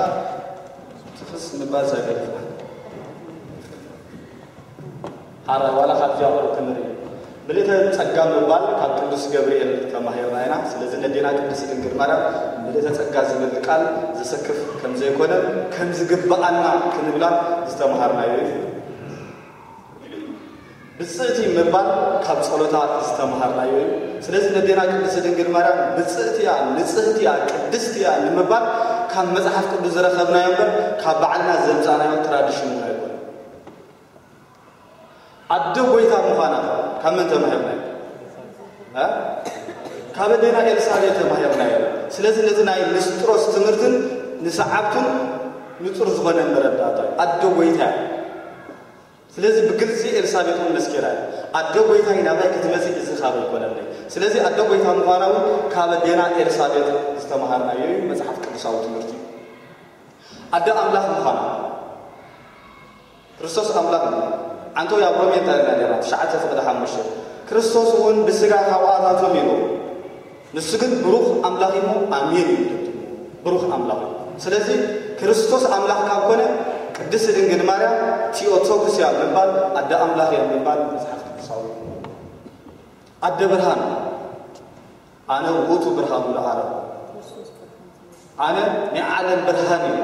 ትፍስ ምባል ሳይገድፍና ሓራይ ዋላ ካብዚኣ ቁሩብ ክንርኢ። ምልእተ ጸጋ ምባል ካብ ቅዱስ ገብርኤል ተማሂርና ኢና። ስለዚ ነዴና ቅድስት ድንግል ማርያም ምልእተ ጸጋ ዝብል ቃል ዘሰክፍ ከም ዘይኮነ፣ ከም ዝግብኣና ክንብላ ዝተማሃርናዮ እዩ። ብጽእቲ ምባል ካብ ጸሎታ ዝተማሃርናዮ እዩ። ስለዚ ነዴና ቅድስት ድንግል ማርያም ብጽእቲ እያ፣ ንጽህቲ እያ፣ ቅድስቲ እያ ንምባል ካብ መጽሓፍ ቅዱስ ዝረኸብናዮ እምበር ካብ ባዕልና ዘምጻእናዮ ትራዲሽን እውን ኣይኮነን። ኣደ ጎይታ ምዃና ካብ መን ተማሂርናዮ? እ? ካብ ኣዴና ኤልሳቤጥ ተማሂርናዮ። ስለዚ ነቲ ናይ ንስጥሮስ ትምህርትን ንሰዓብቱን ንጹር ዝኾነ መረዳእታ እዩ። ኣደ ጎይታ እያ። ስለዚ ብግልጺ ኤልሳቤጥ እውን መስኪራ እያ። ኣደ ጎይታይ ናባይ ክትመጽእ እዚ ካብ ኣይኮነለይ። ስለዚ ኣደ ጎይታ ምዃና እውን ካብ ኣዴና ኤልሳቤጥ ዝተማሃርናዮ እዩ፣ መጽሓፍ ቅዱሳዊ ትምህርቲ እዩ። ኣደ ኣምላኽ ምዃና ክርስቶስ ኣምላኽ እዩ። ዓንተው ኣብ ሮሜ እንታይ ኢልና ነርና? ትሽዓተ ፍቕዲ ሓሙሽተ፣ ክርስቶስ እውን ብስጋ ካብኣታቶም እዩ፣ ንሱ ግን ብሩኽ ኣምላኽ እዩ፣ ኣሜን እዩ። ብሩኽ ኣምላኽ እዩ። ስለዚ ክርስቶስ ኣምላኽ ካብ ኮነ ቅድስት ድንግል ማርያም ቲኦቶክስ እያ ምባል፣ ኣደ ኣምላኽ እያ ምባል መጽሓፍ ቅዱሳዊ እዩ። ኣደ ብርሃን፣ ኣነ ውእቱ ብርሃኑ ለዓለም፣ ኣነ ናይ ዓለም ብርሃን እየ።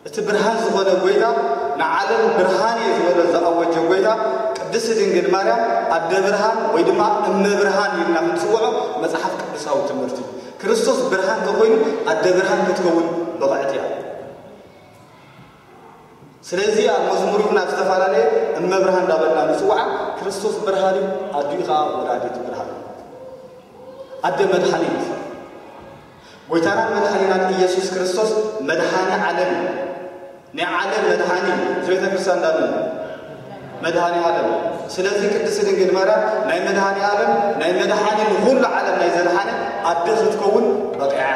እቲ ብርሃን ዝኾነ ጎይታ፣ ንዓለም ብርሃን እየ ዝበሎ ዝኣወጀ ጎይታ፣ ቅድስት ድንግል ማርያም ኣደ ብርሃን ወይ ድማ እመ ብርሃን ኢልና ክንጽውዖ መጽሓፍ ቅዱሳዊ ትምህርቲ እዩ። ክርስቶስ ብርሃን ተኾይኑ ኣደ ብርሃን ክትከውን ብቕዕቲ እያ። ስለዚ ኣብ መዝሙር ይኹን ኣብ ዝተፈላለየ እመ ብርሃን እንዳበልና ንጽውዓ፣ ክርስቶስ ብርሃን እዩ፣ ኣዲኡ ኸዓ ወላዲት ብርሃን። ኣደ መድሓኒት፣ ጎይታናን መድሓኒናን ኢየሱስ ክርስቶስ መድሓኒ ዓለም እዩ። ናይ ዓለም መድሓኒ እዩ። እዚ ቤተ ክርስቲያን እንዳመን መድሓኒ ዓለም። ስለዚ ቅድስት ድንግል ማርያም ናይ መድሓኒ ዓለም፣ ናይ መድሓኒ ንኹሉ ዓለም ናይ ዘድሓነ ኣደ ክትከውን በቂዓ።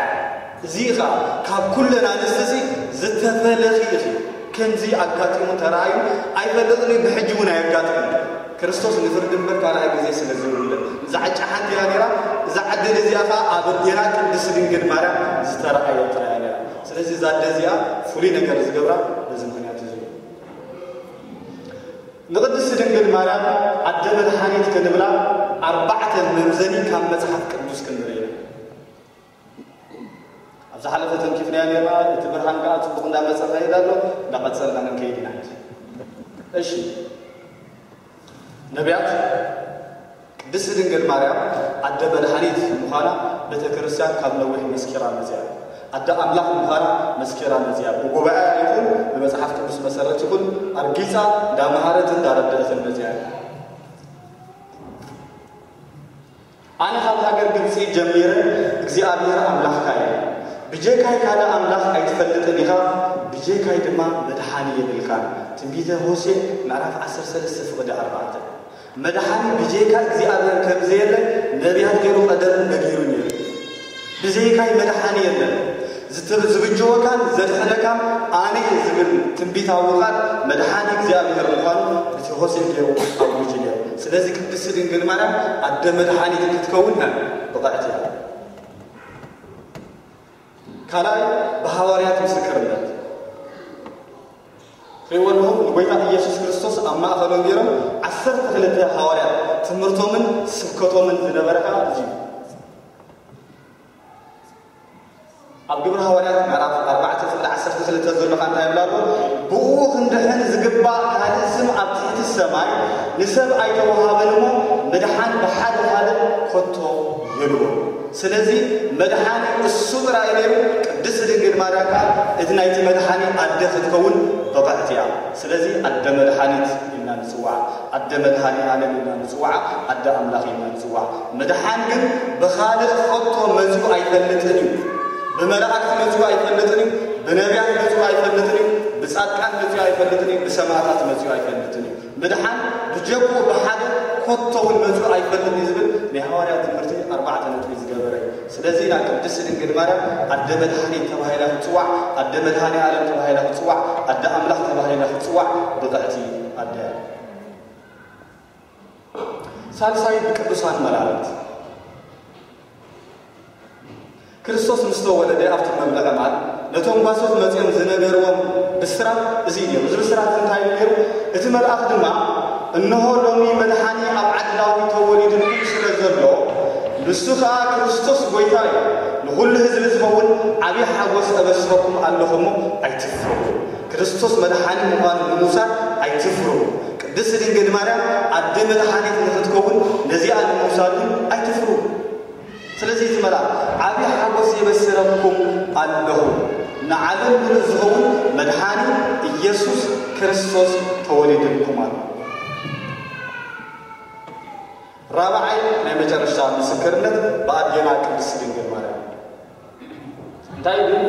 እዚ ኸዓ ካብ ኩለን ኣንስትሲ ዝተፈለኺ ኢኺ። ከምዚ ኣጋጢሙ ተራእዩ ኣይፈልጥን እዩ፣ ብሕጂ እውን ኣየጋጥምን። ክርስቶስ ንፍርዲ እምበር ካልኣይ ግዜ ስለ ዘይውለድ። እዛ ዕጫ ሓንቲ እያ ነይራ። እዛ ዕድል እዚኣ ኸዓ ኣብ ኣዴና ቅድስት ድንግል ማርያም ዝተራእየት ጥራይ እያ ነይራ። ስለዚ እዛ ኣደ እዚኣ ፍሉይ ነገር ዝገብራ በዚ ምኽንያት እዚ እዩ። ንቅድስት ድንግል ማርያም ኣደ መድሓኒት ክንብላ ኣርባዕተ መምዘኒ ካብ መጽሓፍ ቅዱስ ክንርኢ ኢና። ኣብ ዝሓለፈ ተንኪፍናዮ ነርና። እቲ ብርሃን ከኣ ጽቡቕ እንዳመጸ ይኸይድ ኣሎ። እንዳቐጸልና ክንከይድ ኢና ሕጂ። እሺ፣ ነቢያት ቅድስት ድንግል ማርያም ኣደ መድሓኒት ምዃና ቤተ ክርስቲያን ካብ ነዊሕ መስኪራ መጽያ። ኣደ ኣምላኽ ምዃና መስኪራ መጽያ። ብጉባኤ ይኹን ብመጽሓፍ ቅዱስ መሰረት ይኹን ኣርጊጻ እንዳመሃረትን እንዳረደእትን መጽያ። ኣነ ካብ ሃገር ግብጺ ጀሚረ እግዚኣብሔር ኣምላኽካ እየ። ብጀካይ ካልእ ኣምላኽ ኣይትፈልጥን ኢኻ፣ ብጀካይ ድማ መድሓኒ የብልካን። ትንቢተ ሆሴዕ ምዕራፍ ዓሰርተ ሰለስተ ፍቕዲ ኣርባዕተ። መድሓኒ ብጀካ እግዚኣብሔር ከም ዘየለ ነቢያት ገይሩ ቀደም ነጊሩ ነይሩ። ብዘይካይ መድሓኒ የለን። ዝት-፣ ዝብጀወካን ዘድሕነካን ኣነ እየ ዝብል ትንቢታዊ ቃል መድሓኒ እግዚኣብሔር ምዃኑ እቲ ሆሴዕ ገይሩ ኣውጁ ነይሩ። ስለዚ ቅድስቲ ድንግል ማርያም ኣደ መድሓኒት ክትከውን ብቕዕቲ እያ። ካልኣይ፣ ብሃዋርያት ምስክርነት። ትሪእዎ ኣለኹም፣ ንጎይታ ኢየሱስ ክርስቶስ ኣብ ማእኸሎም ገይሮም ዓሰርተ ክልተ ሃዋርያት ትምህርቶምን ስብከቶምን ዝነበረ ከዓ እዚ እዩ። ኣብ ግብሪ ሃዋርያት ምዕራፍ ኣርባዕተ ፍቕዲ ዓሰርተ ክልተ ዘሎ ከዓ እንታይ ይብላ ኣሎ? ብኡ ክንድሕን ዝግባእ ካልእ ስም ኣብ ትሕቲ ሰማይ ንሰብ ኣይተወሃበን እሞ፣ ምድሓን ብሓደ ካልእ ከቶ የልቦን። ስለዚ መድሓኒ እሱ ጥራይ ነይሩ፣ ቅድስቲ ድንግል ማርያም ከኣ እቲ ናይቲ መድሓኒ ኣደ ክትከውን ብቕዕቲ እያ። ስለዚ ኣደ መድሓኒት ኢልና ንጽውዓ፣ ኣደ መድሃኔ ዓለም ኢልና ንጽውዓ፣ ኣደ ኣምላኽ ኢልና ንጽውዓ። ምድሓን ግን ብኻልእ ኸቶ መጺኡ ኣይፈልጥን እዩ። ብመላእክቲ መጺኡ ኣይፈልጥን እዩ። ብነቢያት መጺኡ ኣይፈልጥን እዩ። ብጻድቃን መጺኡ ኣይፈልጥን እዩ፣ ብሰማዕታት መጺኡ ኣይፈልጥን እዩ። ምድሓን ብጀብኡ ብሓደ ኮቶ እውን መጺኡ ኣይፈልጥን እዩ ዝብል ናይ ሃዋርያት ትምህርቲ ኣርባዕተ ነጥቢ ዝገበረ እዩ። ስለዚ ኢና ቅድስቲ ድንግል ማርያም ኣደ መድሓኒት ተባሂላ ክትጽዋዕ፣ ኣደ መድሃኔ ዓለም ተባሂላ ክትጽዋዕ፣ ኣደ ኣምላኽ ተባሂላ ክትጽዋዕ ብቕዕቲ ኣደ እያ። ሳልሳይ ብቅዱሳን መላእክት። ክርስቶስ ምስ ተወለደ ኣብቲ መብልዒ ማል ነቶም ጓሶት መጺኦም ዝነገርዎም ብስራት እዚ እዩ ነይሩ። እዚ ብስራት እዚ እንታይ እዩ ነይሩ? እቲ መልኣኽ ድማ፣ "እንሆ ሎሚ መድሓኒ ኣብ ዓዲ ዳዊት ተወሊዱልኩም ስለ ዘሎ፣ ንሱ ኸኣ ክርስቶስ ጐይታ እዩ፣ ንኹሉ ህዝቢ ዝኸውን ዓብዪ ሓጎስ እበስረኩም ኣለኹ እሞ ኣይትፍርሁ። ክርስቶስ መድሓኒ ምዃኑ ንምውሳድ ኣይትፍርሁ። ቅድስቲ ድንግል ማርያም ኣደ መድሓኒት ንኽትከውን ነዚኣ ንምውሳድ እውን ኣይትፍርሁ። ስለዚ እቲ መልኣኽ ዓብዪ ሓጎስ የበስረኩም ኣለኹ፣ ንዓለም ምሉእ ዝኸውን መድሓኒ ኢየሱስ ክርስቶስ ተወሊዱልኩም ኣሎ።" ራብዓይ ናይ መጨረሻ ምስክርነት ብኣዴና ቅድስቲ ድንግል ማርያም። እንታይ ይብል?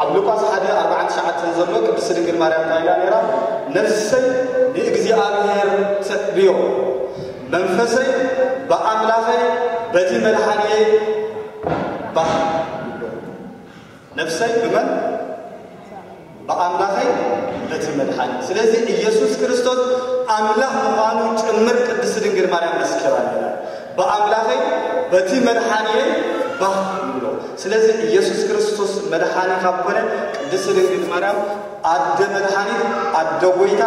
ኣብ ሉቃስ ሓደ ኣርባዓን ትሽዓተን ዘሎ ቅድስቲ ድንግል ማርያም እንታይ ኢላ ነይራ? "ነፍሰይ ንእግዚኣብሔር ተዕብዮ፣ መንፈሰይ ብኣምላኸይ በቲ መድሓኒየይ ባህ ይብሎ።" ነፍሰይ ብመን? ብኣምላኸይ በቲ መድሓኒ። ስለዚ ኢየሱስ ክርስቶስ ኣምላኽ ምዃኑ ጭምር ቅድስቲ ድንግል ማርያም መስኪራ ነይራ። "ብኣምላኸይ በቲ መድሓኒየይ ባህ ይብሎ።" ስለዚ ኢየሱስ ክርስቶስ መድሓኒ ካብ ኮነ፣ ቅድስቲ ድንግል ማርያም ኣደ መድሓኒት፣ ኣደ ጐይታ፣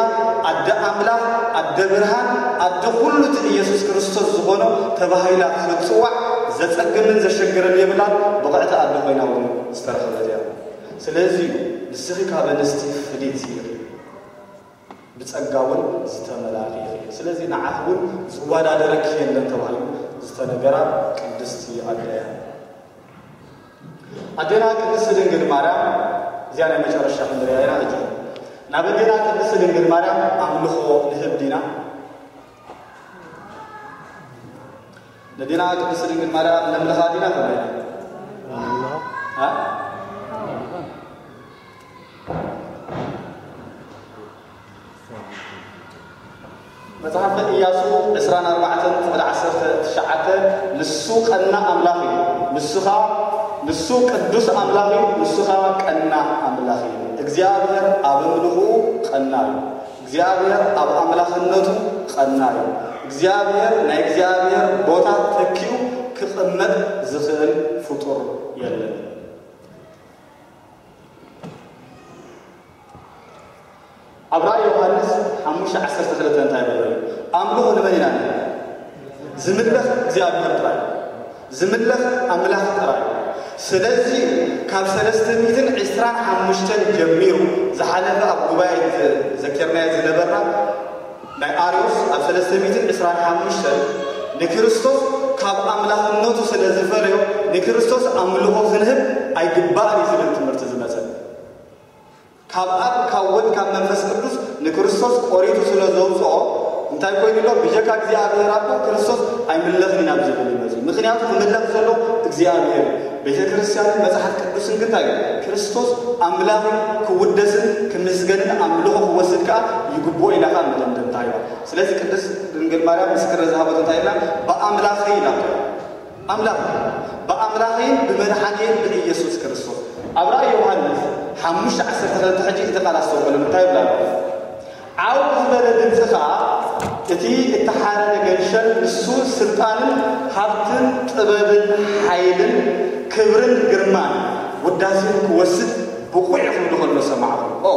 ኣደ ኣምላኽ፣ ኣደ ብርሃን፣ ኣደ ኩሉ እቲ ኢየሱስ ክርስቶስ ዝኾኖ ተባሂላ ክትጽዋዕ ዘጸግምን ዘሸግርን የብላን። ብቕዕቲ ኣደ ኮይና እውን ዝተረኸበት እያ። ስለዚ እዩ ንስኺ ካብ ኣንስቲ ፍልይቲ ኢኺ፣ ብጸጋ እውን ዝተመላእኺ ኢኺ። ስለዚ ንዓኺ እውን ዝወዳደረኪ የለን ተባሂሉ ዝተነገራ ቅድስቲ ኣደ እያ። ኣዴና ቅድስቲ ድንግል ማርያም፣ እዚኣ ናይ መጨረሻ ክንሪኣ ኢና። ሕጂ ናብ ኣዴና ቅድስቲ ድንግል ማርያም ኣምልኾ ንህብ ዲና? ነዴና ቅድስቲ ድንግል ማርያም ነምልኻ ዲና ከመይ? አ? መጽሓፈ ኢያሱ ዕስራን ኣርባዕተን ቁጽሪ ዓሰርተ ትሽዓተ፣ "ንሱ ቀናእ ኣምላኽ እዩ፣ ንሱ ኸኣ፣ ንሱ ቅዱስ ኣምላኽ እዩ፣ ንሱ ኸኣ ቀናእ ኣምላኽ እዩ። እግዚኣብሔር ኣብ ኣምልኾኡ ቀናእ እዩ፣ እግዚኣብሔር ኣብ ኣምላኽነቱ ቀናእ እዩ። እግዚኣብሔር፣ ናይ እግዚኣብሔር ቦታ ተኪኡ ክቕመጥ ዝኽእል ፍጡር የለን።" ኣብ ራእይ ዮሃንስ ሓሙሽተ ዓሰርተ ክልተ እንታይ ይብል? ኣምልኾ ንመን ኢና ንብል? ዝምለኽ እግዚኣብሔር ጥራይ፣ ዝምለኽ ኣምላኽ ጥራይ። ስለዚ ካብ ሰለስተ ሚእትን ዕስራን ሓሙሽተን ጀሚሩ ዝሓለፈ ኣብ ጉባኤ ዘኪርናዮ ዝነበርና ናይ ኣርዮስ ኣብ ሰለስተ ሚእትን ዕስራን ሓሙሽተን ንክርስቶስ ካብ ኣምላኽነቱ ስለ ዝፈለዮ ንክርስቶስ ኣምልኾ ክንህብ ኣይግባእን እዩ ዝብል ትምህርቲ ዝመጸ። ካብ ኣብ፣ ካብ ወልድ፣ ካብ መንፈስ ቅዱስ ንክርስቶስ ቆሪጹ ስለ ዘውጽኦ እንታይ ኮይኑ ኣሎ? ብጀካ እግዚኣብሔር ኣቦ ክርስቶስ ኣይምለኽን ኢና ኣብ ዝብል እዩ መጺኡ። ምኽንያቱ ክምለኽ ዘሎ እግዚኣብሔር እዩ። ቤተ ክርስቲያንን መጽሓፍ ቅዱስን ግን እንታይ እዩ? ክርስቶስ ኣምላኽ ክውደስን ክምስገንን ኣምልኾ ክወስድ ከኣ ይግብኦ ኢላ ከኣ መደምደምታ ሂባ። ስለዚ ቅድስት ድንግል ማርያም ምስክር ዝሃበቶ እንታይ ኢላ? "ብኣምላኸይ" ኢላ። ኣምላኽ፣ "ብኣምላኸይን ብመድሓኒየይን ብኢየሱስ ክርስቶስ።" ኣብ ራእይ ዮሃንስ ሓሙሽተ ዓሰርተ ክልተ ሕጂ እቲ ቃል ኣስተውዕሉ እንታይ ይብላ ኣሎ? ዓው ዝበለ ድምፂ ኸዓ እቲ እተሓረደ ገንሸል ንሱ ስልጣንን ሃብትን ጥበብን ሓይልን ክብርን ግርማን ውዳሴን ክወስድ ብቑዕ እዩ ክብሉ ከሎ ሰማዕኹ። ኦ፣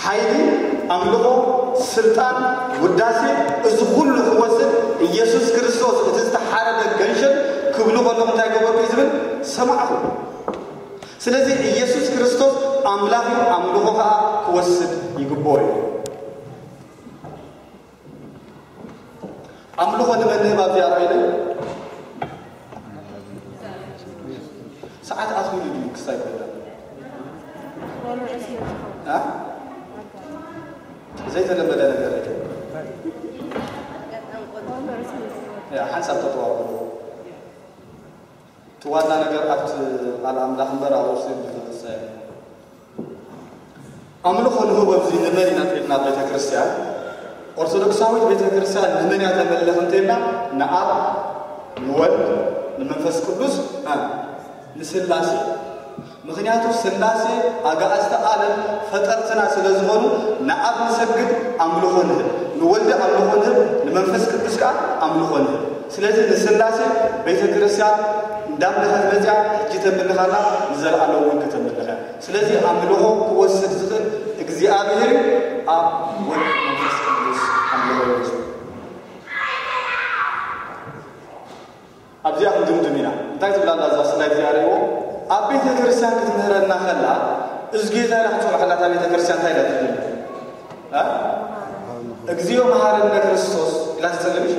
ሓይሊ፣ ኣምልኾ፣ ስልጣን፣ ውዳሴ፣ እዚ ኩሉ ክወስድ ኢየሱስ ክርስቶስ እቲ ዝተሓረደ ገንሸል ክብሉ ከለኹ እንታይ ገበርኩ እዩ ዝብል ሰማዕኹ። ስለዚ ኢየሱስ ክርስቶስ ኣምላኽ እዩ፣ ኣምልኾ ኸዓ ክወስድ ይግብኦ እዩ። ኣምልኾ ንመን ንህብ ኣብዚኣ ራእይ? ሰዓት ኣትዊሉ ድዩ ክሳይ ኮይና? አ? ዘይተለመደ ነገር እዩ። ያ፣ ሓንሳብ ተጠዋወሉ። ዋና ነገር ኣብቲ ቃል ኣምላኽ እምበር ኣብ ኦርቶዶክስ ብዙሕ ዝሳየ ኣምልኾ ንህቦ ኣብዚ ንመን ኢና እንተኢልና ቤተ ክርስቲያን ኦርቶዶክሳዊት ቤተ ክርስቲያን ንመን እያ ተመልኽ እንተኢልና ንኣብ ንወልድ ንመንፈስ ቅዱስ እ፣ ንስላሴ። ምክንያቱ ስላሴ ኣጋእዝተ ዓለም ፈጠርትና ስለ ዝኾኑ ንኣብ ንሰግድ ኣምልኾ ንህብ፣ ንወልድ ኣምልኾ ንህብ፣ ንመንፈስ ቅዱስ ከዓ ኣምልኾ ንህብ። ስለዚህ ንስላሴ ቤተ ክርስቲያን እንዳምለኸት መፅያ ሕጂ ተምልኻላ ንዘለኣለም እውን ከተምልኸ። ስለዚህ ኣምልኾ ክወስድ ዝኽእል እግዚኣብሔር እዩ። ኣብ ወልድ መንፈስ ቅዱስ ኣምልኾ ይወስድ። ኣብዚኣ ክንድምድም ኢና። እንታይ ትብላ ኣላ እዛ ስላይድ እዚኣ ርእይዎ? ኣብ ቤተ ክርስቲያን ክትምህረና ከላ እዝጌታ ኢላ ክትፅውዓ ከላ እታ ቤተ ክርስቲያን እንታይ ኢላ ትብል? እ? እግዚኦ መሐረነ ክርስቶስ ኢላ ትፅሊ ምሽ?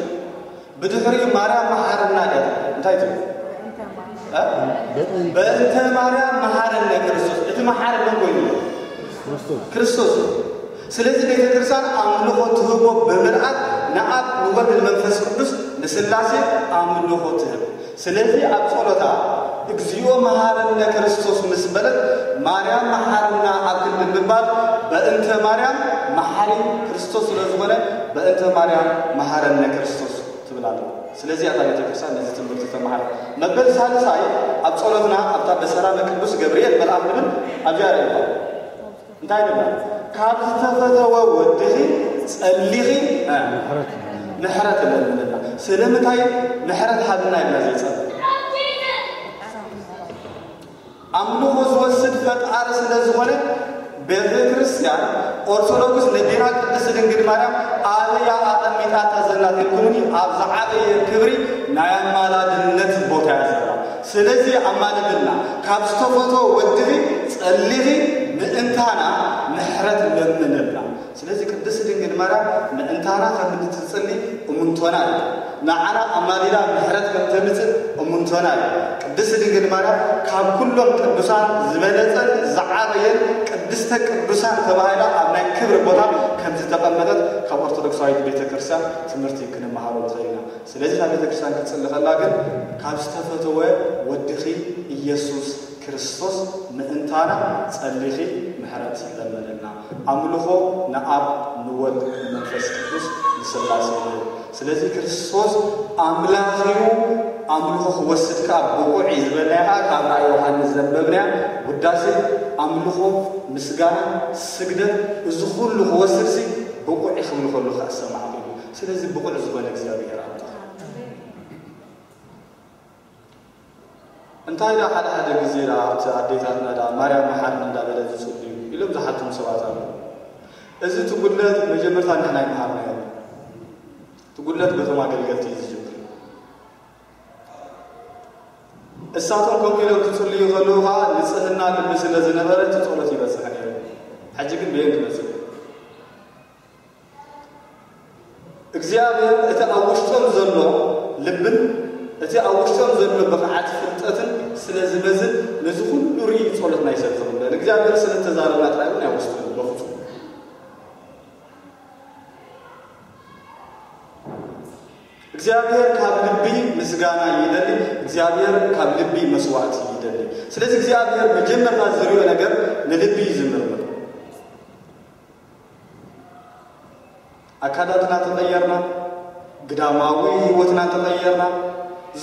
ብድሕሪኡ ማርያም መሓረና ድያ እንታይ ትብል? እ? በእንተ ማርያም መሓረነ ክርስቶስ። እቲ መሓሪ መን ኮይኑ? ክርስቶስ። ስለዚህ ቤተ ክርስቲያን ኣምልኾ ትህቦ ብምልኣት ንኣብ ንወልድ ንመንፈስ ቅዱስ ንስላሴ ኣምልኾ ትህብ። ስለዚህ ኣብ ጸሎታ እግዚኦ መሓረነ ክርስቶስ ምስ በለት ማርያም መሓረና ኣብ ክንዲ ምባል በእንተ ማርያም መሓሪ ክርስቶስ ስለ ዝኾነ በእንተ ማርያም መሓረነ ክርስቶስ ትብል ኣላ። ስለዚህ እታ ቤተ ክርስቲያን ነዚ ትምህርቲ ተመሃረ። መበል ሳልሳይ ኣብ ጸሎትና ኣብታ በሰላመ ቅዱስ ገብርኤል መልኣኽ ንብል ኣብዚኣ ርእይዋ። እንታይ ንብል? ካብ ዝተፈተወ ወድኺ ጸሊኺ እ፣ ምሕረት ለምንና። ስለምንታይ ምሕረት ሃብና ኢልና ዘይጸልእ? ኣምልኾ ዝወስድ ፈጣሪ ስለ ዝኾነ ቤተ ክርስቲያን ኦርቶዶክስ ነዴና ቅድስት ድንግል ማርያም ኣበይ እያ ኣቐሚጣታ ዘላ ተልኩምኒ ኣብ ዝዓበየ ክብሪ ናይ ኣማላድነት ቦታ እያ ዘላ። ስለዚ ኣማልድልና ካብ ዝተፈተወ ወድኺ ጸሊኺ ምእንታና ምሕረት ለምንልና። ስለዚ ቅድስት ድንግል ማርያም ምእንታና ከም እንትትጽሊ እሙንቶና እዩ። ንዓና ኣማሊዳ ምሕረት ከም ተምጽእ እሙንቶና እዩ። ቅድስት ድንግል ማርያም ካብ ኩሎም ቅዱሳን ዝበለጸን ዝዓበየን ቅድስተ ቅዱሳን ተባሂላ ኣብ ናይ ክብሪ ቦታ ከም ዝተቐመጠት ካብ ኦርቶዶክሳዊት ቤተ ክርስቲያን ትምህርቲ ክንመሃሮ ንኽእል ኢና። ስለዚ እታ ቤተ ክርስቲያን ክትጽሊ ከላ ግን ካብ ዝተፈተወ ወድኺ ኢየሱስ ክርስቶስ ምእንታና ጸሊኺ ምሕረት ለምንልና። ኣምልኾ ንኣብ ንወልድ ንመንፈስ ቅዱስ ንስላሴ ንብል። ስለዚ ክርስቶስ ኣምላኽ እዩ፣ ኣምልኾ ክወስድ ከኣ ብቑዕ እዩ ዝበልናዮ ከኣ ካብ ራእይ ዮሃንስ ዘንበብናያ ውዳሴ ኣምልኾ፣ ምስጋና፣ ስግደት እዚ ኩሉ ክወስድሲ ብቑዕ እዩ ክብል ከሎ ከኣ ሰማዕኩ። ስለዚ ብቑዕ ዝኾነ እግዚኣብሔር ኣምላኽ እንታይ ደኣ ሓደ ሓደ ግዜ ደኣ ኣብቲ ኣዴታትና ደኣ ማርያም መሓርኒ እንዳበለ ዝጽልዩ ኢሎም ዝሓቱም ሰባት ኣለዉ። እዚ እቲ ጉድለት መጀመርታ ንሕና ኣይመሃርናዮ። እቲ ጉድለት በቶም ኣገልገልቲ እዩ ዝጅምር። እሳቶም ከምኡ ኢሎም ክጽልዩ ከለዉ ኸዓ ንጽህና ልቢ ስለ ዝነበረ እቲ ጸሎት ይበጽሕ ነይሩ። ሕጂ ግን በየን ክመጽእ? እግዚኣብሔር እቲ ኣብ ውሽጦም ዘሎ ልብን እቲ ኣብ ውሽጦም ዘሎ ብቕዓት ፍልጠትን ስለ ዝመዝን ነዚ ኩሉ ርኢ ጸሎትና ይሰምዕ ዝቕበል እግዚኣብሔር ስለ እተዛረብና ጥራይ እውን ኣይወስድን በፍጹም። እግዚኣብሔር ካብ ልቢ ምስጋና ይደሊ። እግዚኣብሔር ካብ ልቢ መስዋዕቲ ይደሊ። ስለዚ እግዚኣብሔር መጀመርታ ዝሪኦ ነገር ንልቢ እዩ ዝምርምር። ኣካላትና ተቐየርና፣ ግዳማዊ ህይወትና ተቐየርና፣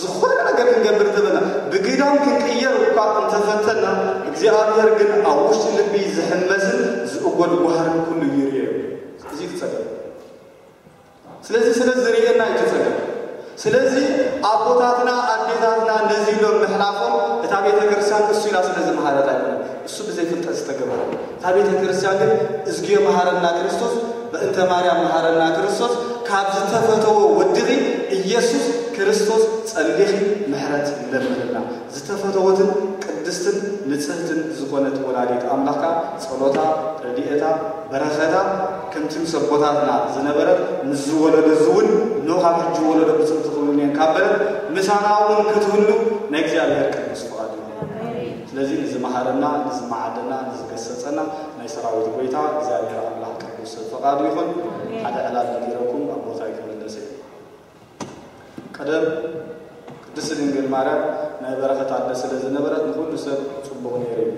ዝኾነ ነገር ክንገብር ተበልና ብግዳም ክንቅየር እኳ እንተፈተና እግዚኣብሔር ግን ኣብ ውሽጢ ልቢ ዝሕመስን ዝእጎድ ጓህርን ኩሉ ይርእዮ እዩ። እዚ እዩ እቲ ጸገም። ስለዚ ስለ ዝርእየና እዩ እቲ ጸገም። ስለዚ ኣቦታትና ኣዴታትና ነዚ ኢሎም ምሕላፎም እታ ቤተ ክርስቲያን እሱ ኢላ ስለ ዝመሃረት ኣይኮነን። እሱ ብዘይ ፍልጠት ዝተገበረ እታ ቤተ ክርስቲያን ግን እዝግዮ መሃረና ክርስቶስ በእንተ ማርያም መሃረና ክርስቶስ ካብ ዝተፈተወ ወድኺ ኢየሱስ ክርስቶስ ጸሊኺ ምሕረት ለምንልና። ዝተፈተወትን ቅድስትን ንጽህትን ዝኾነት ወላዲት ኣምላኽካ ጸሎታ ረድኤታ በረኸታ ከምቲ ምስ ኣቦታትና ዝነበረት ምስ ዝወለዶ እዚ እውን ኖ ካብ ሕጂ ወለዶ ብጽምቲ ክብሉን እየን ካብ በለት ምሳና እውን ክትህሉ ናይ እግዚኣብሔር ቅዱስ ፍቓድ እዩ። ስለዚ ንዝመሃረና ንዝመዓደና ንዝገሰጸና ናይ ሰራዊት ጎይታ እግዚኣብሔር ኣምላኽ ቅዱስ ፍቓዱ ይኹን። ሓደ ዕላል ነጊረኩም ኣብ ቦታ ይክመለስ እዩ። ቀደም ቅድስት ድንግል ማርያም ናይ በረኸት ኣደ ስለ ዝነበረት ንኹሉ ሰብ ጽቡቕ ነይሩ እዩ።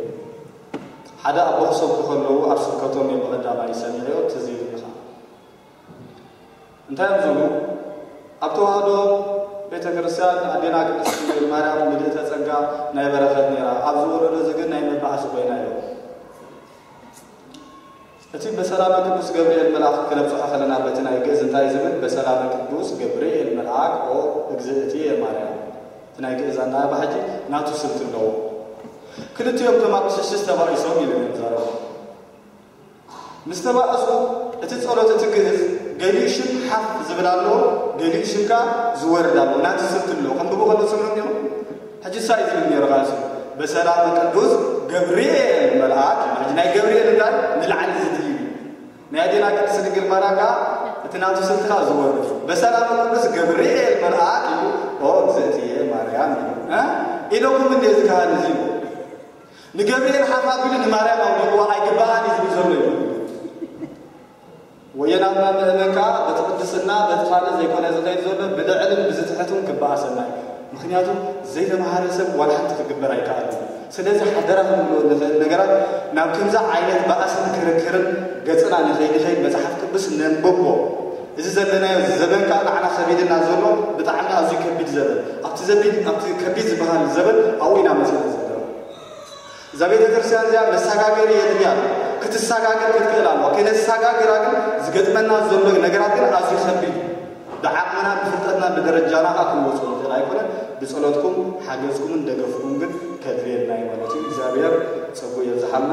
ሓደ ኣቦ ክሰብኩ ከለዉ ኣብ ስብከቶም እየ ብቐዳማይ ሰሚዐዮ፣ ትዝ ኢሉኒ ኸኣ። እንታይ እዮም ዝብሉ? ኣብ ተዋህዶ ቤተ ክርስቲያን ኣዴና ቅድስት ድንግል ማርያም ምልእተ ጸጋ ናይ በረኸት ነይራ፣ ኣብዚ ወለዶ እዚ ግን ናይ መባእሲ ኮይና እዮም። እቲ በሰላመ ቅዱስ ገብርኤል መልኣክ ክነብጽሖ ከለና በቲ ናይ ግእዝ እንታይ ዝብል? በሰላመ ቅዱስ ገብርኤል መልኣክ ኦ እግዝእትየ ማርያም። እቲ ናይ ግእዝ ኣናባባ ሕጂ ናቱ ስልቲ ኣለዎ። ክልቲኦም ከማቅሽሽስ ተባኢሶም ኢሉ እዮም ዛረቡ። ምስ ተባእሱ እቲ ጸሎት እቲ ግእዝ ገሊኡ ሽም ሓፍ ዝብል ኣለዎ፣ ገሊኡ ሽም ከኣ ዝወርድ ኣለዎ። ናቱ ስልቲ ኣለዎ። ከንብቡ ከሎ ትሰምዑ እንዲኹም? ሕጂ ሳይ ዝብል ነይሩ ቃልሱ በሰላመ ቅዱስ ገብርኤል መልኣክ እዩ። ሕጂ ናይ ገብርኤል እንታይ ንላዕሊ ዝድይብ እዩ። ናይ ኣዴና ቅድስት ድንግል ማርያም ከኣ እቲ ናቱ ስልቲ ከኣ ዝወርድ እዩ። በሰላመ ቅዱስ ገብርኤል መልኣክ እዩ ኦ እግዝእትየ ማርያም እዩ። እ? ኢለኩም እንዴ እዚ ካህን እዚ ንገብርኤል ሓፍ ኣቢሉ ንማርያም ኣውዲቕዋ ኣይግባኣን እዩ ዝብል ዘሎ እዩ። ወየናትና ምእመን ከኣ በቲ ቅድስና በቲ ካልእ ዘይኮነ ዝኸይድ ዘሎ ብልዕልን ብዝትሕትን ክበኣሰና እዩ። ምኽንያቱ ዘይተምሃረ ሰብ ዋላ ሓንቲ ክግበር ኣይከኣልን። ስለዚ ሓደራ ክንብሎ ንኽእል ነገራት ናብ ከምዚ ዓይነት ባእስን ክርክርን ገጽና ንኸይድኸይድ መጽሓፍ ቅዱስ ነንብቦ። እዚ ዘለናዮ ዘበን ከኣ ንዓና ከቢድና ዘሎ ብጣዕሚ ኣዝዩ ከቢድ ዘበን። ኣብቲ ዘቢድ ኣብቲ ከቢድ ዝበሃል ዘበን ኣብኡ ኢና መጺና ዘለና። እዛ ቤተ ክርስቲያን እዚኣ መሰጋገሪ የድልያ ኣሎ። ክትሰጋገር ክትክእል ኣለዋ። ከነሰጋግራ ግን ዝገጥመና ዘሎ ነገራት ግን ኣዝዩ ከቢድ እዩ። ብዓቕምና ብፍልጠትና ብደረጃና ከዓ ክንወፅኦ ንኽእል ኣይኮነን። ብፀሎትኩም ሓገዝኩምን ደገፍኩም ግን ከድልየና እዩ ማለት እዩ። እግዚኣብሔር ፀጉ የብዝሓልና።